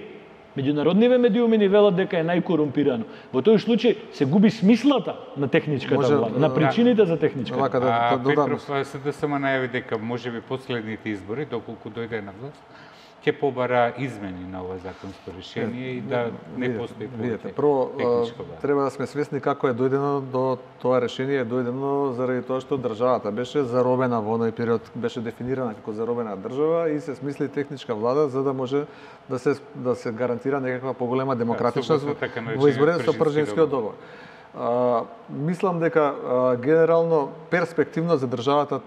меѓународниве медиуми ни велат дека е најкорумпирано. Во тој случај се губи смислата на техничката Може, влада, на причините за техничката. Вака да, А, да додам. Петров се да само најави дека можеби последните избори, доколку дојде на власт, ќе побара измени на ова законско решение и да не постои Видете, прво техничка влада. треба да сме свесни како е дојдено до тоа решение, е дојдено заради тоа што државата беше заробена во оној период, беше дефинирана како заробена држава и се смисли техничка влада за да може да се да се гарантира некаква поголема демократичност Да, така во изборите со Пржинскиот договор. А, мислам дека а, генерално перспективно за државата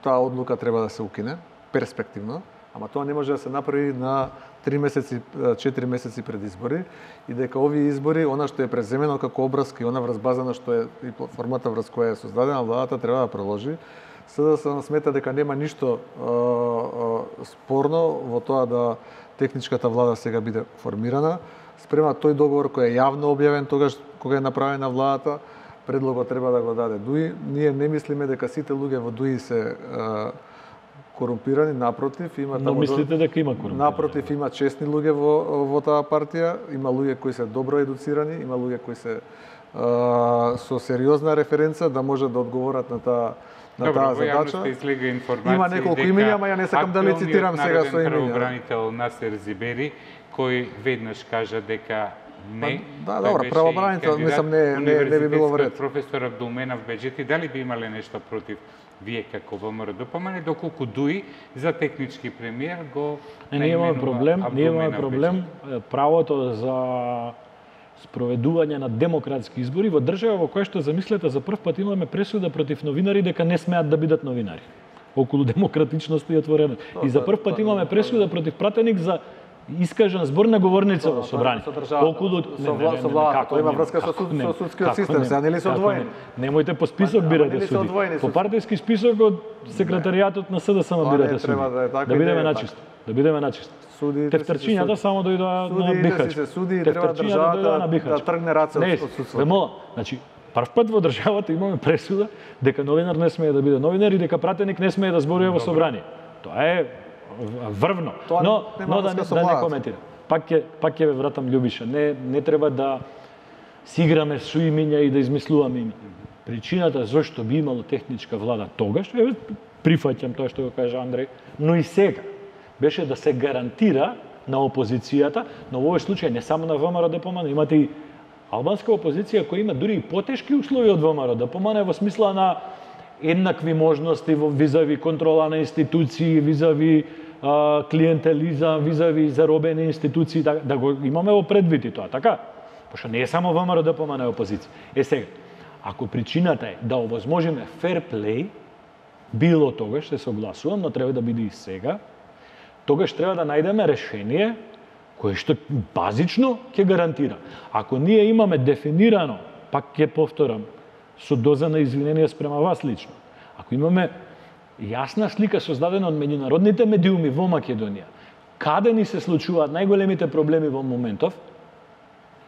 таа одлука треба да се укине, перспективно. Ама тоа не може да се направи на три месеци, четири месеци пред избори и дека овие избори, она што е преземено како обрска и она врз база што е и формата врз која е создадена владата треба да продолжи. Сега се смета дека нема ништо а, а, спорно во тоа да техничката влада сега биде формирана. Спрема тој договор кој е јавно објавен тогаш кога е направена владата, предлогот треба да го даде ДУИ. Ние не мислиме дека сите луѓе во ДУИ се а, корумпирани, напротив, има Но мислите дека има корумпирани? Напротив, има честни луѓе во во таа партија, има луѓе кои се добро едуцирани, има луѓе кои се а, со сериозна референца да може да одговорат на таа на Добро, таа во задача. јавноста излега информација Има неколку имиња, ама ја не сакам да ли цитирам сега со имиња. Правобранител Насер Зибери, кој веднаш кажа дека не. Да, тој добро, беше правобранител, кандидат, мислам, не- не- не би било вред. Професор Абдулменав Беџети, дали би имале нешто против вие како ВМРО-ДПМН, доколку ДУИ за технички премиер го Не, ние имаме наименува проблем, ние имаме Абдулменав проблем е, правото за спроведување на демократски избори во држава во која што замислете за прв пат имаме пресуда против новинари дека не смеат да бидат новинари околу демократичност и отвореност. И за прв пат имаме пресуда против пратеник за искажан збор на говорница во собрание. Со државата, Околу со вла- со владата, тоа има врска со суд- со судскиот систем, сега нели се одвоени? Немојте по список Ама бирате нели се суди. одвоени По суд? партиски список од секретаријатот на СДСМ Тоа не бирате суди. треба да е така Да и бидеме не е начисто. Да бидеме начисто. Судиите Тефтерчињата се само дојдоа на Судиите Бихач. си се суди и треба Тефтерчињата државата дојдоа на да Бихач. тргне раце Не, од од судството. ве мола, значи прв пат во државата имаме пресуда дека новинар не смее да биде новинар и дека пратеник не смее да зборува во собрание. Тоа е врвно. Тоа но нема но да, врска не- со да не владата. коментирам. Пак ќе пак ќе ве вратам Љубиша. Не не треба да си играме со имиња и да измислуваме имиња. Причината зашто би имало техничка влада тогаш, еве прифаќам тоа што го кажа Андреј, но и сега беше да се гарантира на опозицијата, но во овој случај не само на ВМРО-ДПМН, имате и албанска опозиција која има дури и потешки услови од ВМРО-ДПМН во смисла на еднакви можности во визави контрола на институции, визави а, клиентелизам, визави заробени институции, да, да го имаме во предвид и тоа, така? Пошто не е само ВМРО-ДПМН е опозиција. Е сега, ако причината е да овозможиме фер плей, било тогаш, се согласувам, но треба да биде и сега, тогаш треба да најдеме решение кое што базично ќе гарантира. Ако ние имаме дефинирано, пак ќе повторам, со доза на извинение спрема вас лично, ако имаме јасна слика создадена од меѓународните медиуми во Македонија, каде ни се случуваат најголемите проблеми во моментов,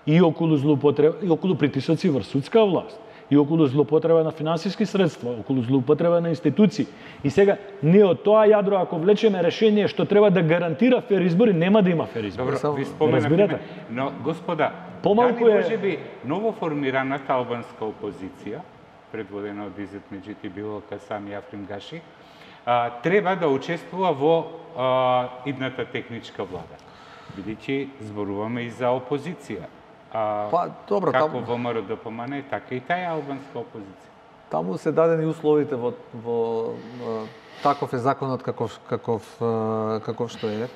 и околу злоупотреба, и околу притисоци врз судска власт, и околу злоупотреба на финансиски средства, околу злоупотреба на институции. И сега, ние од тоа јадро, ако влечеме решение што треба да гарантира фер избори, нема да има фер избори. Добро, ви Разбирате? споменавме, но господа, Помалку дали е- може би ново формираната албанска опозиција, предводена од Изет Меджити Билока, Сами Африм Гаши, а, треба да учествува во а, идната техничка влада. Бидејќи зборуваме и за опозиција. А, Па, добро, како таму- во ВМРО-ДПМН, така и таа албанска опозиција. Таму се дадени условите во во а, таков е законот каков каков а, каков што е.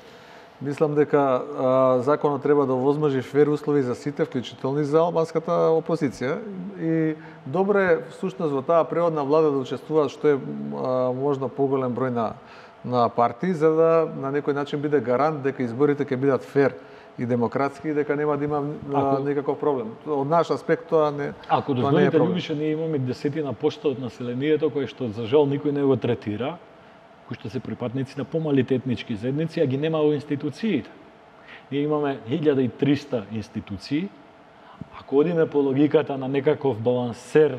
Мислам дека а, законот треба да овозможи фер услови за сите, вклучително и за албанската опозиција. И добро е всушност во таа преводна влада да учествуваат што е а, можно поголем број на на партии, за да на некој начин биде гарант дека изборите ќе бидат фер и демократски и дека нема да има ако, никаков проблем. Од наш аспект тоа не Ако дозволите, Љубиша, ние имаме десетина почта од населението кој што за жал никој не го третира, кои што се припадници на помалите етнички заедници, а ги нема во институциите. Ние имаме илјада и триста институции. Ако одиме по логиката на некаков балансер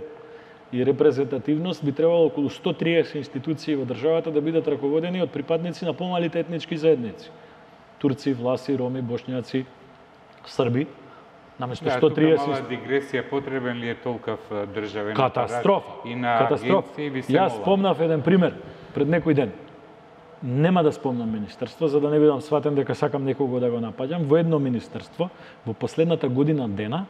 и репрезентативност, би требало околу сто триесет институции во државата да бидат раководени од припадници на помалите етнички заедници. Турци, власи, роми, бошњаци, срби. Наместо сто триесет... Да, тука мала дигресија, потребен ли е толкав државен Катастрофа. И на Катастрофа. агенции ви се Јас мола. спомнав еден пример пред некој ден. Нема да спомнам министерство, за да не бидам сватен дека сакам некого да го напаѓам. Во едно министерство, во последната година дена,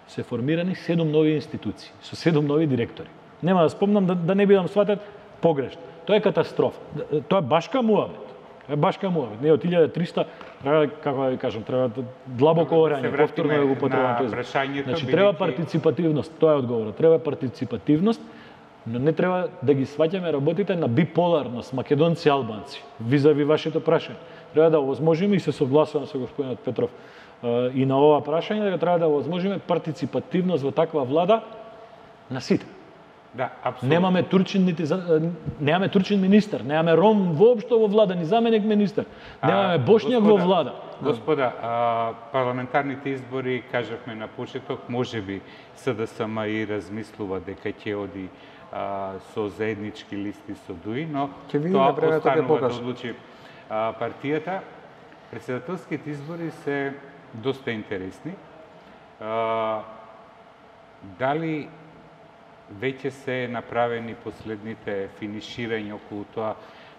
се формирани седум нови институции, со седум нови директори. Нема да спомнам да, да не бидам сватен погрешно. Тоа е катастрофа. Тоа е башка муабет. Тоа е башка муабет. Не од илјада и триста, треба, како да ви кажам, треба длабоко орање, повторно да го потребам тој. Значи треба партиципативност, тоа е одговорот. Треба партиципативност, но не треба да ги сваќаме работите на биполарност, македонци и албанци, визави вашето прашање. Треба да овозможиме, и се согласувам со господинот Петров, и на ова прашање, дека треба да овозможиме партиципативност во таква влада на сите. Да, апсолутно. Немаме турчин нити немаме турчин министер, немаме ром воопшто во влада, ни заменик министер. Немаме бошњак во влада. Господа, а, парламентарните избори, кажавме на почеток, можеби СДСМ и размислува дека ќе оди а, со заеднички листи со ДУИ, но тоа останува да одлучи а, партијата. Председателските избори се доста интересни. А, дали веќе се направени последните финиширања околу тоа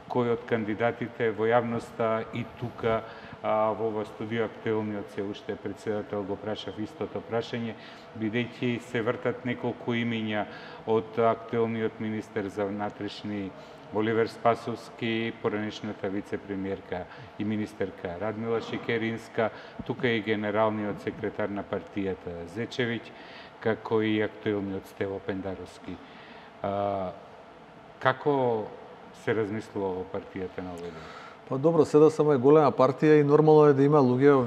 кој од кандидатите во јавноста и тука а, во ова студио актуелниот се уште председател го прашав истото прашање, бидејќи се вртат неколку имиња од актуелниот министер за внатрешни Оливер Спасовски, поранешната вице-премиерка и министерка Радмила Шекеринска, тука и генералниот секретар на партијата Зечевиќ, како и актуелниот Стево Пендаровски. А, како се размислува во партијата на овој ден? Па добро, СДСМ е голема партија и нормално е да има луѓе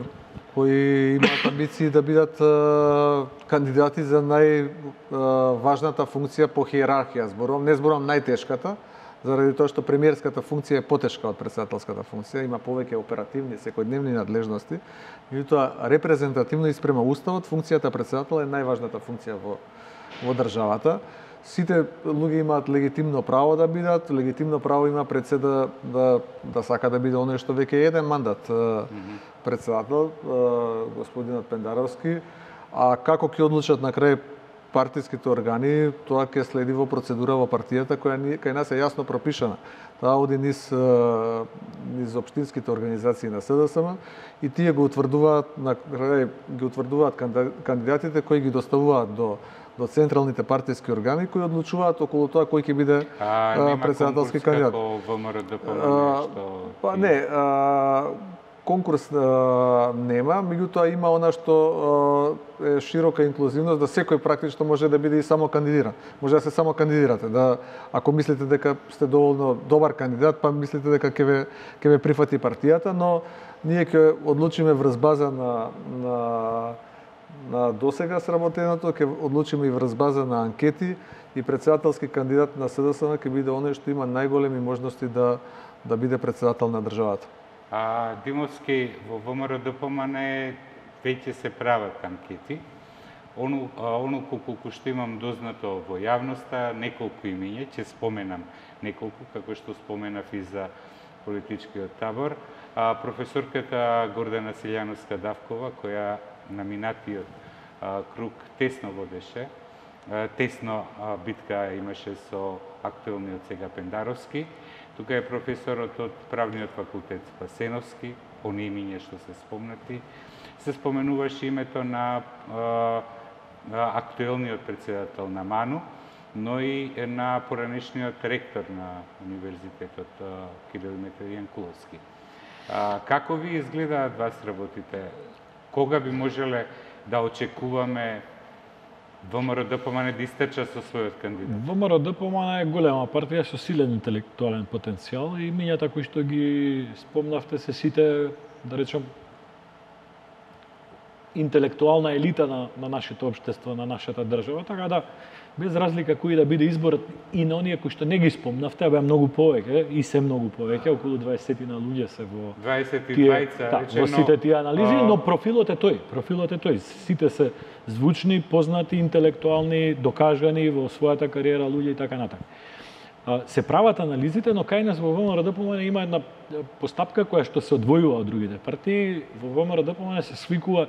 кои имаат амбиции да бидат а, кандидати за најважната функција по хиерархија. Зборувам, не зборувам најтешката, заради тоа што премиерската функција е потешка од претседателската функција, има повеќе оперативни, секојдневни надлежности, меѓутоа репрезентативно и спрема уставот, функцијата претседател е најважната функција во во државата. Сите луѓе имаат легитимно право да бидат, легитимно право има председа да да сака да биде оној што веќе е еден мандат mm-hmm. председател, господинот Пендаровски, а како ќе одлучат на крај партиските органи, тоа ќе следи во процедура во партијата која ни, кај нас е јасно пропишана. Таа оди низ низ општинските организации на СДСМ и тие го утврдуваат на крај ги утврдуваат кандидатите кои ги доставуваат до до централните партиски органи кои одлучуваат околу тоа кој ќе биде а, претседателски кандидат. Како ВМРО да помне што па не, а, конкурс а, нема, меѓутоа има она што а, е широка инклузивност да секој практично може да биде и само кандидиран. Може да се само кандидирате, да ако мислите дека сте доволно добар кандидат, па мислите дека ќе ве ќе ве прифати партијата, но ние ќе одлучиме врз база на на на досега сработеното, ќе одлучиме и врз база на анкети и председателски кандидат на СДСМ ќе биде оној што има најголеми можности да да биде председател на државата. А Димовски, во ВМРО Д П М Н веќе се прават анкети. Оно, оно колку што имам дознато во јавноста, неколку имиња, ќе споменам неколку, како што споменав и за политичкиот табор. А, професорката Гордана Силјановска-Давкова, која на минатиот а, круг тесно водеше, а, тесно а, битка имаше со актуелниот сега Пендаровски. Тука е професорот од правниот факултет Спасеновски, они имиња што се спомнати. Се споменуваше името на а, актуелниот председател на МАНУ, но и на поранешниот ректор на Универзитетот Кирил Методијан Куловски. А, како ви изгледаат вас работите? Кога би можеле да очекуваме ВМРО-ДПМН да истече со својот кандидат? ВМРО-ДПМН е голема партија со силен интелектуален потенцијал и мињата кои што ги спомнавте се сите, да речем, интелектуална елита на, на нашето општество, на нашата држава, така да без разлика кој да биде изборот и на оние кои што не ги спомнавте, беа многу повеќе и се многу повеќе, околу дваесет на луѓе се во дваесет и тие, двајца, да, речено, во сите тие анализи, а... но профилот е тој, профилот е тој. Сите се звучни, познати, интелектуални, докажани во својата кариера луѓе и така натаму. Се прават анализите, но кај нас во ВМРО-ДПМН има една постапка која што се одвојува од другите партии. Во ВМРО-ДПМН се свикува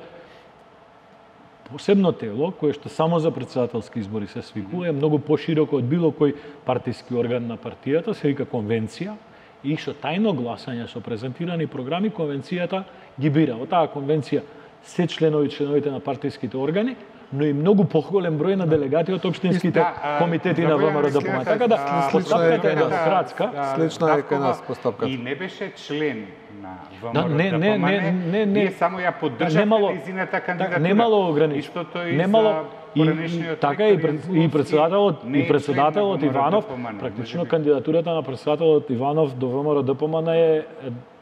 посебно тело, кое што само за претседателски избори се свикува, е многу пошироко од било кој партиски орган на партијата, се вика конвенција, и со тајно гласање, со презентирани програми, конвенцијата ги бира. Во таа конвенција се членови членовите на партиските органи, но и многу поголем број на делегати од општинските да, комитети на ВМРО-ДПМН. Така да, постапката е демократска. Слична е кај нас постапката. И не беше член на Да, не, не, не, не, не. Вие само ја поддржавте нејзината кандидатура. Немало ограничено. Истото и немало, за поранешниот така и, пред, и председателот и председателот Иванов, практично кандидатурата на председателот Иванов до ВМРО-ДПМН е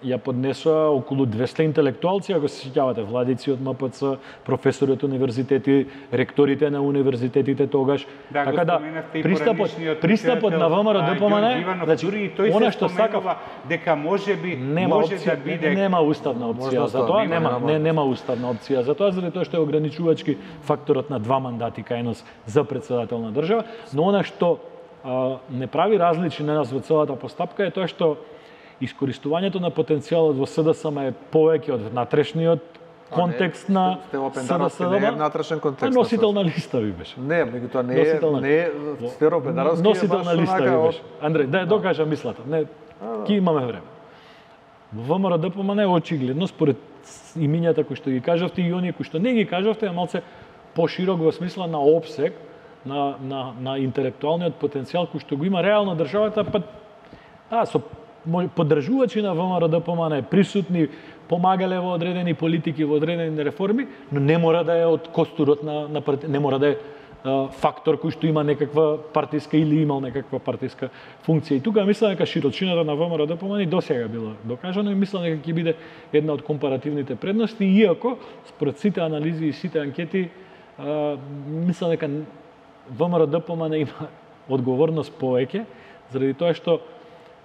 ја поднесоа околу двесте интелектуалци, ако се сеќавате, владици од МПЦ, професори од универзитети, ректорите на универзитетите тогаш. Да, така да пристапот пристапот на ВМРО-ДПМН, значи дури и тој она се што споменува дека можеби нема може опција, да биде нема уставна опција за тоа, нема, не нема уставна опција за тоа, заради тоа што е ограничувачки факторот на два мандати кај нас за председател на држава, но она што а, не прави различни на нас во целата постапка е тоа што искористувањето на потенцијалот во СДСМ е повеќе од внатрешниот контекст на СДСМ. Не е внатрешен контекст. Носител на листа ви беше. Не, меѓутоа не е, не е Стеро Педаровски. Носител на листа ви беше. Андреј, да ја докажам мислата. Не, ки имаме време. Во ВМРО-ДПМН е очигледно според имињата кои што ги кажавте и оние кои што не ги кажавте, е малце поширок во смисла на опсег, на, на, на интелектуалниот потенцијал кој што го има реално државата, па да, со поддржувачи на ВМРО-ДПМН присутни, помагале во одредени политики, во одредени реформи, но не мора да е од костурот на, на парти... не мора да е а, фактор кој што има некаква партиска или имал некаква партиска функција. И тука мислам дека широчината на ВМРО-ДПМН досега била докажано и мислам дека ќе биде една од компаративните предности, иако според сите анализи и сите анкети а, мислам дека ВМРО-ДПМН има одговорност повеќе, заради тоа што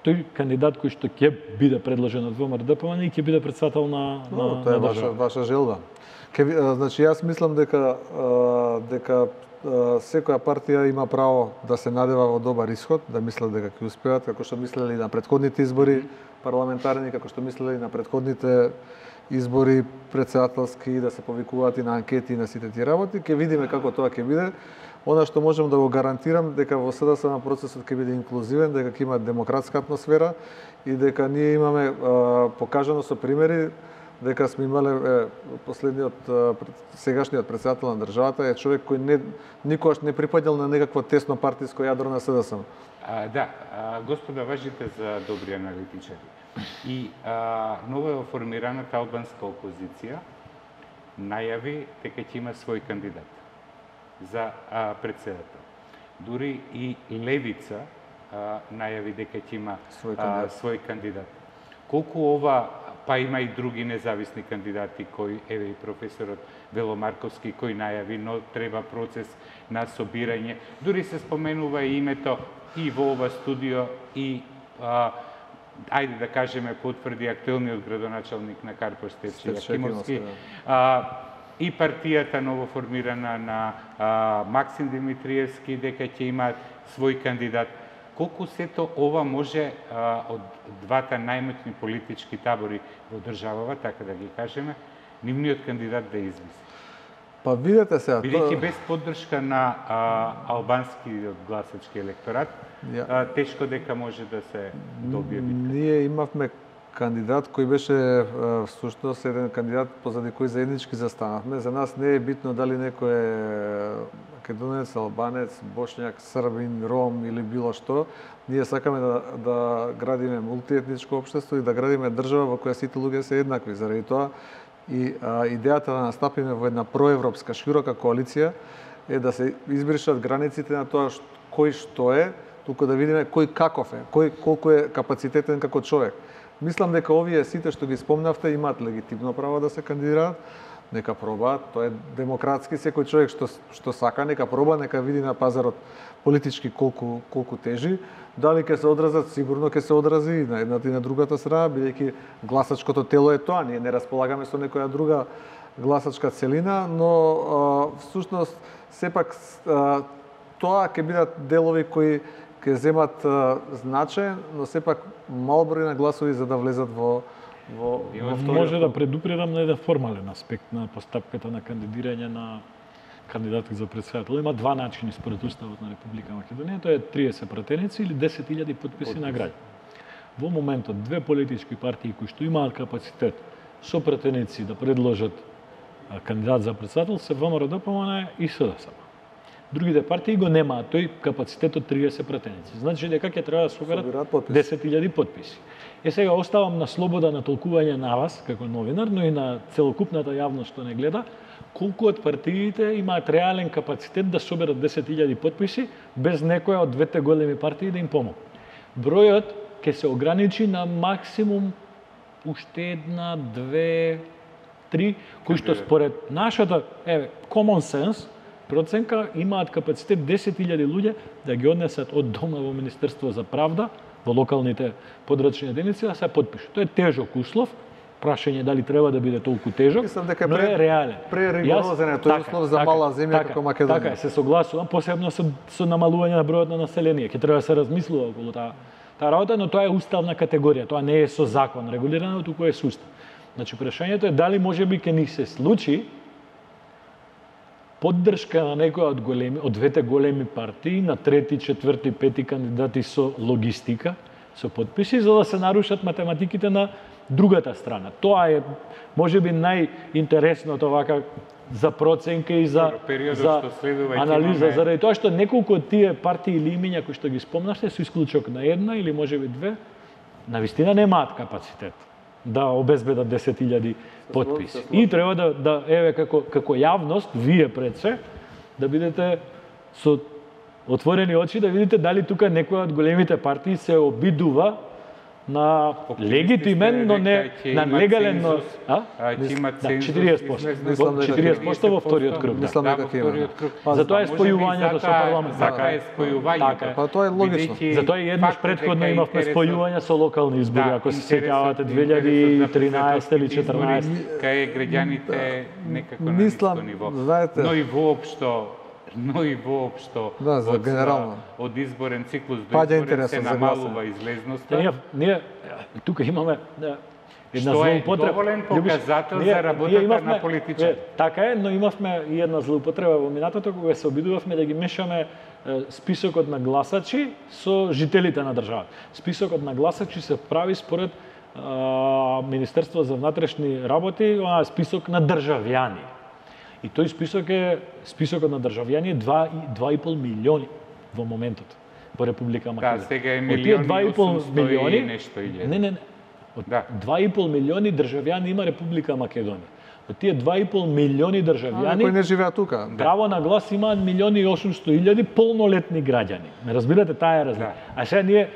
тој кандидат кој што ќе биде предложен од ВМРО-ДПМН и ќе биде председател на на, no, тоа е на ваша ваша желба. Ке, значи јас мислам дека дека секоја партија има право да се надева во добар исход, да мислат дека ќе успеат, како што мислеле на претходните избори парламентарни, како што мислеле на претходните избори председателски, да се повикуваат и на анкети и на сите тие работи. Ќе видиме како тоа ќе биде. Она што можам да го гарантирам дека во СДСМ процесот ќе биде инклузивен, дека ќе има демократска атмосфера и дека ние имаме а, покажано со примери дека сме имале е, последниот а, сегашниот председател на државата е човек кој не никогаш не припаѓал на некакво тесно партиско јадро на СДСМ. А, да, а, господа, важите за добри аналитичари. И а, ново формираната албанска опозиција најави дека ќе има свој кандидат за а, председател. Дури и Левица а, најави дека ќе има свој кандидат. А, свој кандидат. Колку ова, па има и други независни кандидати кои, еве и професорот Вело Марковски кој најави, но треба процес на собирање. Дури се споменува и името и во ова студио и а, ајде да кажеме потврди актуелниот градоначалник на Карпош Стефче Јакимовски. И партијата новоформирана на а, Максим Димитриевски дека ќе има свој кандидат. Колку сето ова може а, од двата најмоćни политички табори во државава, така да ги кажеме, нивниот кандидат да извиси? Па видете сега, бидејќи без поддршка на а, албанскиот гласачки електорат, ја... а, тешко дека може да се добие битка. Ние имавме кандидат кој беше всушност еден кандидат позади кој заеднички застанавме. За нас не е битно дали некој е македонец, албанец, бошњак, србин, ром или било што. Ние сакаме да, да градиме мултиетничко општество и да градиме држава во која сите луѓе се еднакви. Заради тоа и а, идејата да настапиме во една проевропска широка коалиција е да се избришат границите на тоа што, кој што е, туку да видиме кој каков е, кој колку е капацитетен како човек. Мислам дека овие сите што ги спомнавте имаат легитимно право да се кандидираат, нека пробаат, тоа е демократски, секој човек што што сака нека проба, нека види на пазарот политички колку колку тежи, дали ќе се одразат, сигурно ќе се одрази и на едната и на другата страна, бидејќи гласачкото тело е тоа, ние не располагаме со некоја друга гласачка целина, но а, всушност сепак а, тоа ќе бидат делови кои ќе земат а, значаен, но сепак мал број на гласови за да влезат во во, во Може да предупредам на еден формален аспект на постапката на кандидирање на кандидати за председател. Има два начини според Уставот на Република Македонија, тоа е триесет пратеници или десет илјади потписи на граѓани. Во моментот две политички партии кои што имаат капацитет со пратеници да предложат кандидат за председател се ВМРО-ДПМНЕ и СДСМ. Другите партии го немаат тој капацитет од триесет пратеници. Значи дека ќе треба да соберат десет илјади потписи. Е сега оставам на слобода на толкување на вас како новинар, но и на целокупната јавност што не гледа, колку од партиите имаат реален капацитет да соберат десет илјади потписи без некоја од двете големи партии да им помогне. Бројот ќе се ограничи на максимум уште една, две, три, кои што според нашата еве common sense проценка имаат капацитет десет илјади луѓе да ги однесат од дома во Министерство за правда во локалните подрачни единици да се потпишат. Тоа е тежок услов. Прашање дали треба да биде толку тежок, Мислам дека но е реален. Преригорозен е тој услов за мала земја како Македонија. Така е, се согласувам, посебно со, со намалување на бројот на население. Ќе треба да се размислува околу таа таа работа, но тоа е уставна категорија, тоа не е со закон регулирано, туку е со устав. Значи прашањето е дали можеби ќе ни се случи поддршка на некоја од големи од двете големи партии на трети, четврти, пети кандидати со логистика, со потписи за да се нарушат математиките на другата страна. Тоа е можеби најинтересното вака за проценка и за за анализа, заради тоа што неколку од тие партии или имиња кои што ги спомнавте со исклучок на една или можеби две, навистина немаат капацитет да обезбедат десет илјади потписи. И треба да да еве како како јавност, вие пред се да бидете со отворени очи да видите дали тука некоја од големите партии се обидува на легитимен, но не на легален, но а? четириесет проценти. четириесет проценти во вториот круг. Мислам дека ќе има. Затоа е спојувањето со парламентот. Така е спојувањето. Па тоа е логично. Затоа и еднаш претходно имавме спојување со локални избори, ако се сеќавате две илјади и тринаесета или четрнаесета. Кај граѓаните некако на ниско ниво. Знаете, но и воопшто но и воопшто да, за од, генерално. од изборен циклус до Паѓа изборен се интересот за намалува излезноста. Ние, ние тука имаме да, една Што е злоупотреба. доволен показател за работата имавме, на политичар. Е, така е, но имавме и една злоупотреба во минатото кога се обидувавме да ги мешаме е, списокот на гласачи со жителите на државата. Списокот на гласачи се прави според е, Министерство за внатрешни работи, онаа список на државјани. И тој список е списокот на државјани два и пол милиони во моментот во Република Македонија. Да, сега е милиони и осумстотини милиони, нешто илјади. Не, не, не. Од да. два и пол милиони државјани има Република Македонија. Од тие два и пол милиони државјани кои не живеат тука. Право на глас имаат милиони и осумсто илјади полнолетни граѓани. Не разбирате, таа е разлика. Да. А сега ние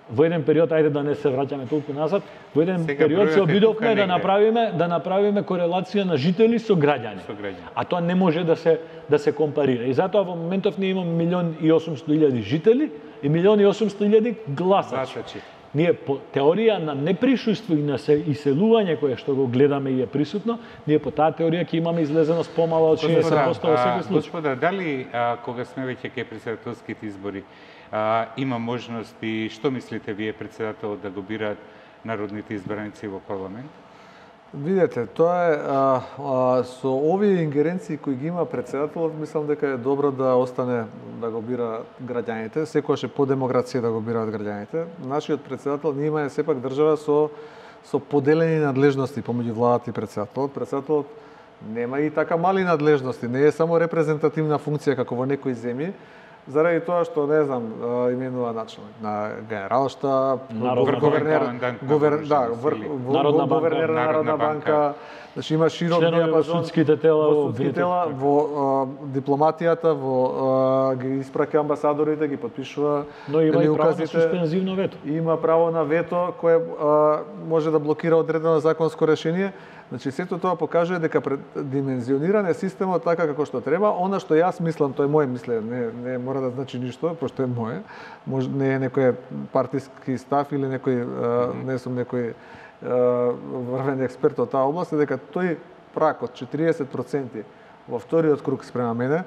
во еден период, ајде да не се враќаме толку назад, во еден сега период се обидовме да направиме да направиме корелација на жители со граѓани. Со граѓани. А тоа не може да се да се компарира. И затоа во моментов ние имаме милион и осумсто илјади жители и милион и осумсто илјади гласачи. Ние по теорија на неприсуство и на иселување кое што го гледаме и е присутно, ние по таа теорија ќе имаме излезеност помала од шеесет проценти во секој случај. Господа, дали а, кога сме веќе кај претседателските избори, а, има можност и што мислите вие претседателот да го бираат народните избраници во парламент? Видете, тоа е а, а, со овие ингеренции кои ги има претседателот, мислам дека е добро да остане да го бира граѓаните, секогаш е по демокрација да го бираат граѓаните. Нашиот претседател, ние имаме сепак држава со со поделени надлежности помеѓу владата и председателот. Председателот нема и така мали надлежности, не е само репрезентативна функција како во некои земји, заради тоа што, не знам, именува начелник на генералштаб, гувернер, гувернер, да, гувернер на Народна банка, значи има широк диапазон судските тела, во судски тела, во дипломатијата, во ги испраќа амбасадорите, ги потпишува, но има и право на суспензивно вето. Има право на вето кое може да блокира одредено законско решение. Значи, сето тоа покажува дека димензиониран е системот така како што треба. Она што јас мислам, тоа е моје мислење, не, не мора да значи ништо, пошто е моје. Може, не е некој партиски став или некој, mm-hmm. не сум некој врвен експерт од таа област, е дека тој прак од четириесет проценти во вториот круг спрема мене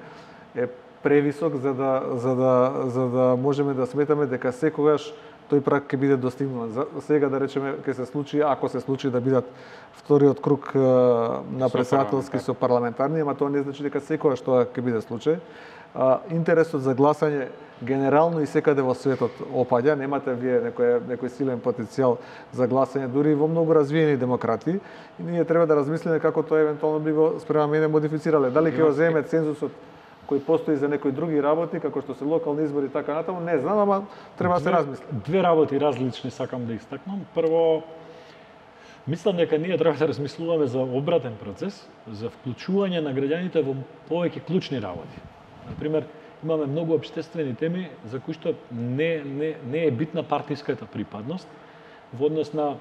е превисок за да, за да, за да можеме да сметаме дека секогаш тој прак ќе биде достигнат. За сега да речеме ќе се случи, ако се случи да бидат вториот круг на председателски со парламентарни, ама тоа не значи дека секогаш тоа ќе биде случај. Интересот за гласање генерално и секаде во светот опаѓа, немате вие некој некој силен потенцијал за гласање дури во многу развиени демократии и ние треба да размислиме како тоа евентуално би го спрема мене модифицирале. Дали ќе го земе цензусот кој постои за некои други работи, како што се локални избори и така натаму, не знам, ама треба да се размисли. Две работи различни сакам да истакнам. Прво, мислам дека ние треба да размислуваме за обратен процес, за вклучување на граѓаните во повеќе клучни работи. Например, имаме многу општествени теми за кои што не, не, не е битна партиската припадност во однос на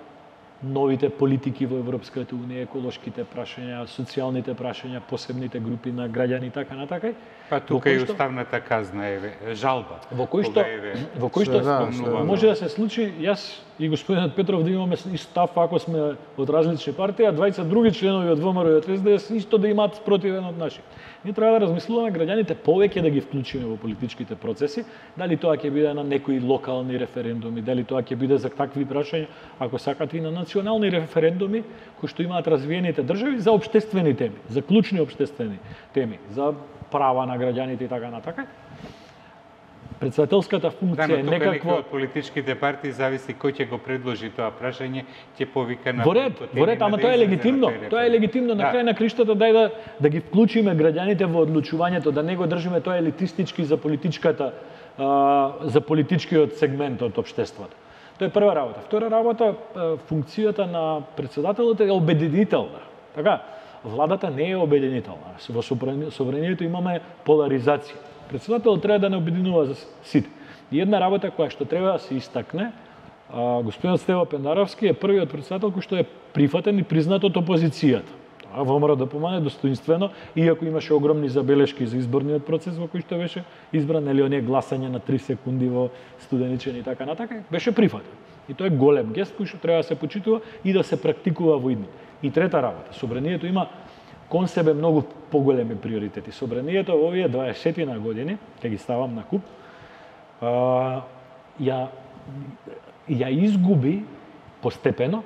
новите политики во Европската унија, еколошките прашања, социјалните прашања, посебните групи на граѓани и така натака. Па тука и уставната казна е жалба. Во кој што во кој што може да се случи, јас и господинот Петров да имаме ист став ако сме од различни партии, а двајца други членови од ВМРО и од ес де ес исто да имаат спротивен од наши. Ние треба да размислуваме граѓаните повеќе да ги вклучиме во политичките процеси, дали тоа ќе биде на некои локални референдуми, дали тоа ќе биде за такви прашања, ако сакате и на национални референдуми кои што имаат развиените држави за општествени теми, за клучни општествени теми, за права на граѓаните и така натака. Председателската функција е некакво од политичките партии зависи кој ќе го предложи тоа прашање, ќе повика на Во ред, во ред, ама тоа е легитимно. Тоа е легитимно на крај на криштата дај да да ги вклучиме граѓаните во одлучувањето, да не го држиме тоа елитистички за политичката за политичкиот сегмент од општеството. Тоа е прва работа. Втора работа, функцијата на председателот е обединителна. Така, владата не е обединителна. Во собранието имаме поларизација. Председателот треба да не обединува за сите. И една работа која што треба да се истакне, господинот Стево Пендаровски е првиот председател кој што е прифатен и признат од опозицијата. Тоа ВМРО да помане достоинствено, иако имаше огромни забелешки за изборниот процес во кој што беше избран, или оние гласање на три секунди во Студеничен и така натака, беше прифатен. И тоа е голем гест кој што треба да се почитува и да се практикува во идни. И трета работа, собранието има кон себе многу поголеми приоритети. Собранието во овие дваесет години, ќе ги ставам на куп, а, ја, ја изгуби постепено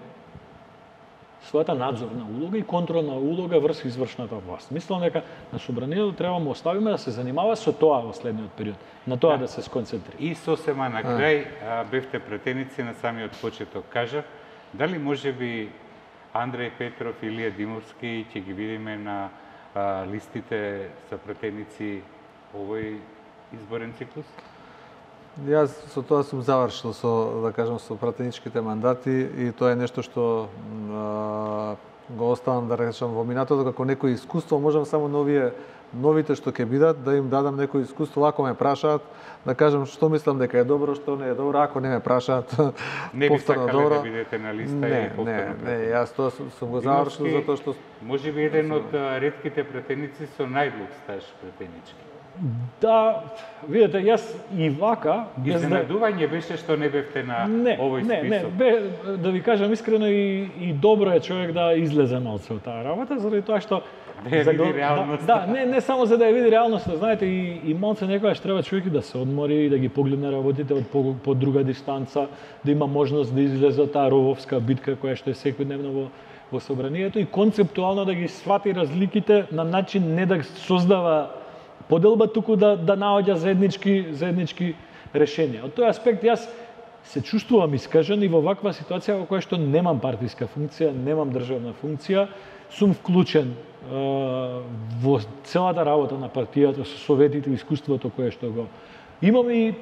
својата надзорна улога и контролна улога врз извршната власт. Мислам дека на собранието треба да му оставиме да се занимава со тоа во следниот период, на тоа да, да се сконцентрира. И сосема на крај а, бевте пратеници на самиот почеток. Кажав, дали може би Андреј Петров и Илија Димовски ќе ги видиме на а, листите за пратеници овој изборен циклус? Јас со тоа сум завршил со, да кажам, со пратеничките мандати и тоа е нешто што а, го оставам, да речам, во минатото како некој искуство, можам само новие новите што ќе бидат да им дадам некој искуство, ако ме прашаат, да кажам што мислам дека е добро, што не е добро, ако не ме прашаат, не би сакале добро, да бидете на листа не, и повторно. Не, не, јас тоа сум, сум го завршил затоа што може би еден од ретките пратеници со најдуг стаж пратенички. Да, видите, јас и вака без изненадување беше што не бевте на не, овој список. Не, не, бе, да ви кажам искрено и, и добро е човек да излезе малце од таа работа, заради тоа што да ја види реалноста. Да, да, не, не само за да ја види реалноста, знаете, и, и малце некогаш треба човек да се одмори и да ги погледне работите од по, по друга дистанца, да има можност да излезе таа рововска битка која што е секојдневно во, во собранието и концептуално да ги свати разликите на начин не да создава поделба, туку да, да наоѓа заеднички, заеднички решенија. Од тој аспект јас се чувствувам искажен и во ваква ситуација во која што немам партиска функција, немам државна функција, сум вклучен е, во целата работа на партијата со советите и искуството кое што го имам и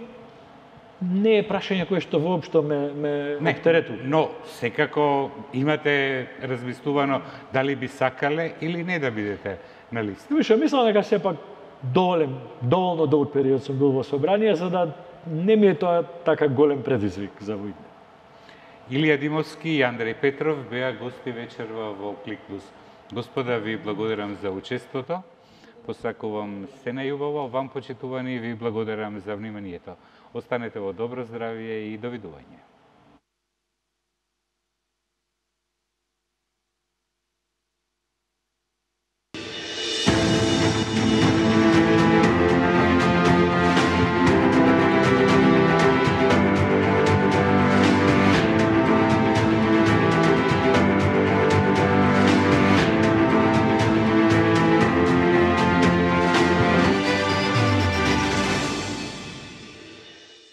не е прашање кое што воопшто ме, ме оптеретува. Но секако имате размислувано дали би сакале или не да бидете на листа. Више, мислам дека сепак доволен, доволно долг период сум бил во собрание за да не ми е тоа така голем предизвик за војна. Илија Димовски и Андреј Петров беа гости вечерва во Клик Плюс. Господа, ви благодарам за учеството. Посакувам се најубаво. Вам, почитувани, ви благодарам за вниманието. Останете во добро здравје и довидување.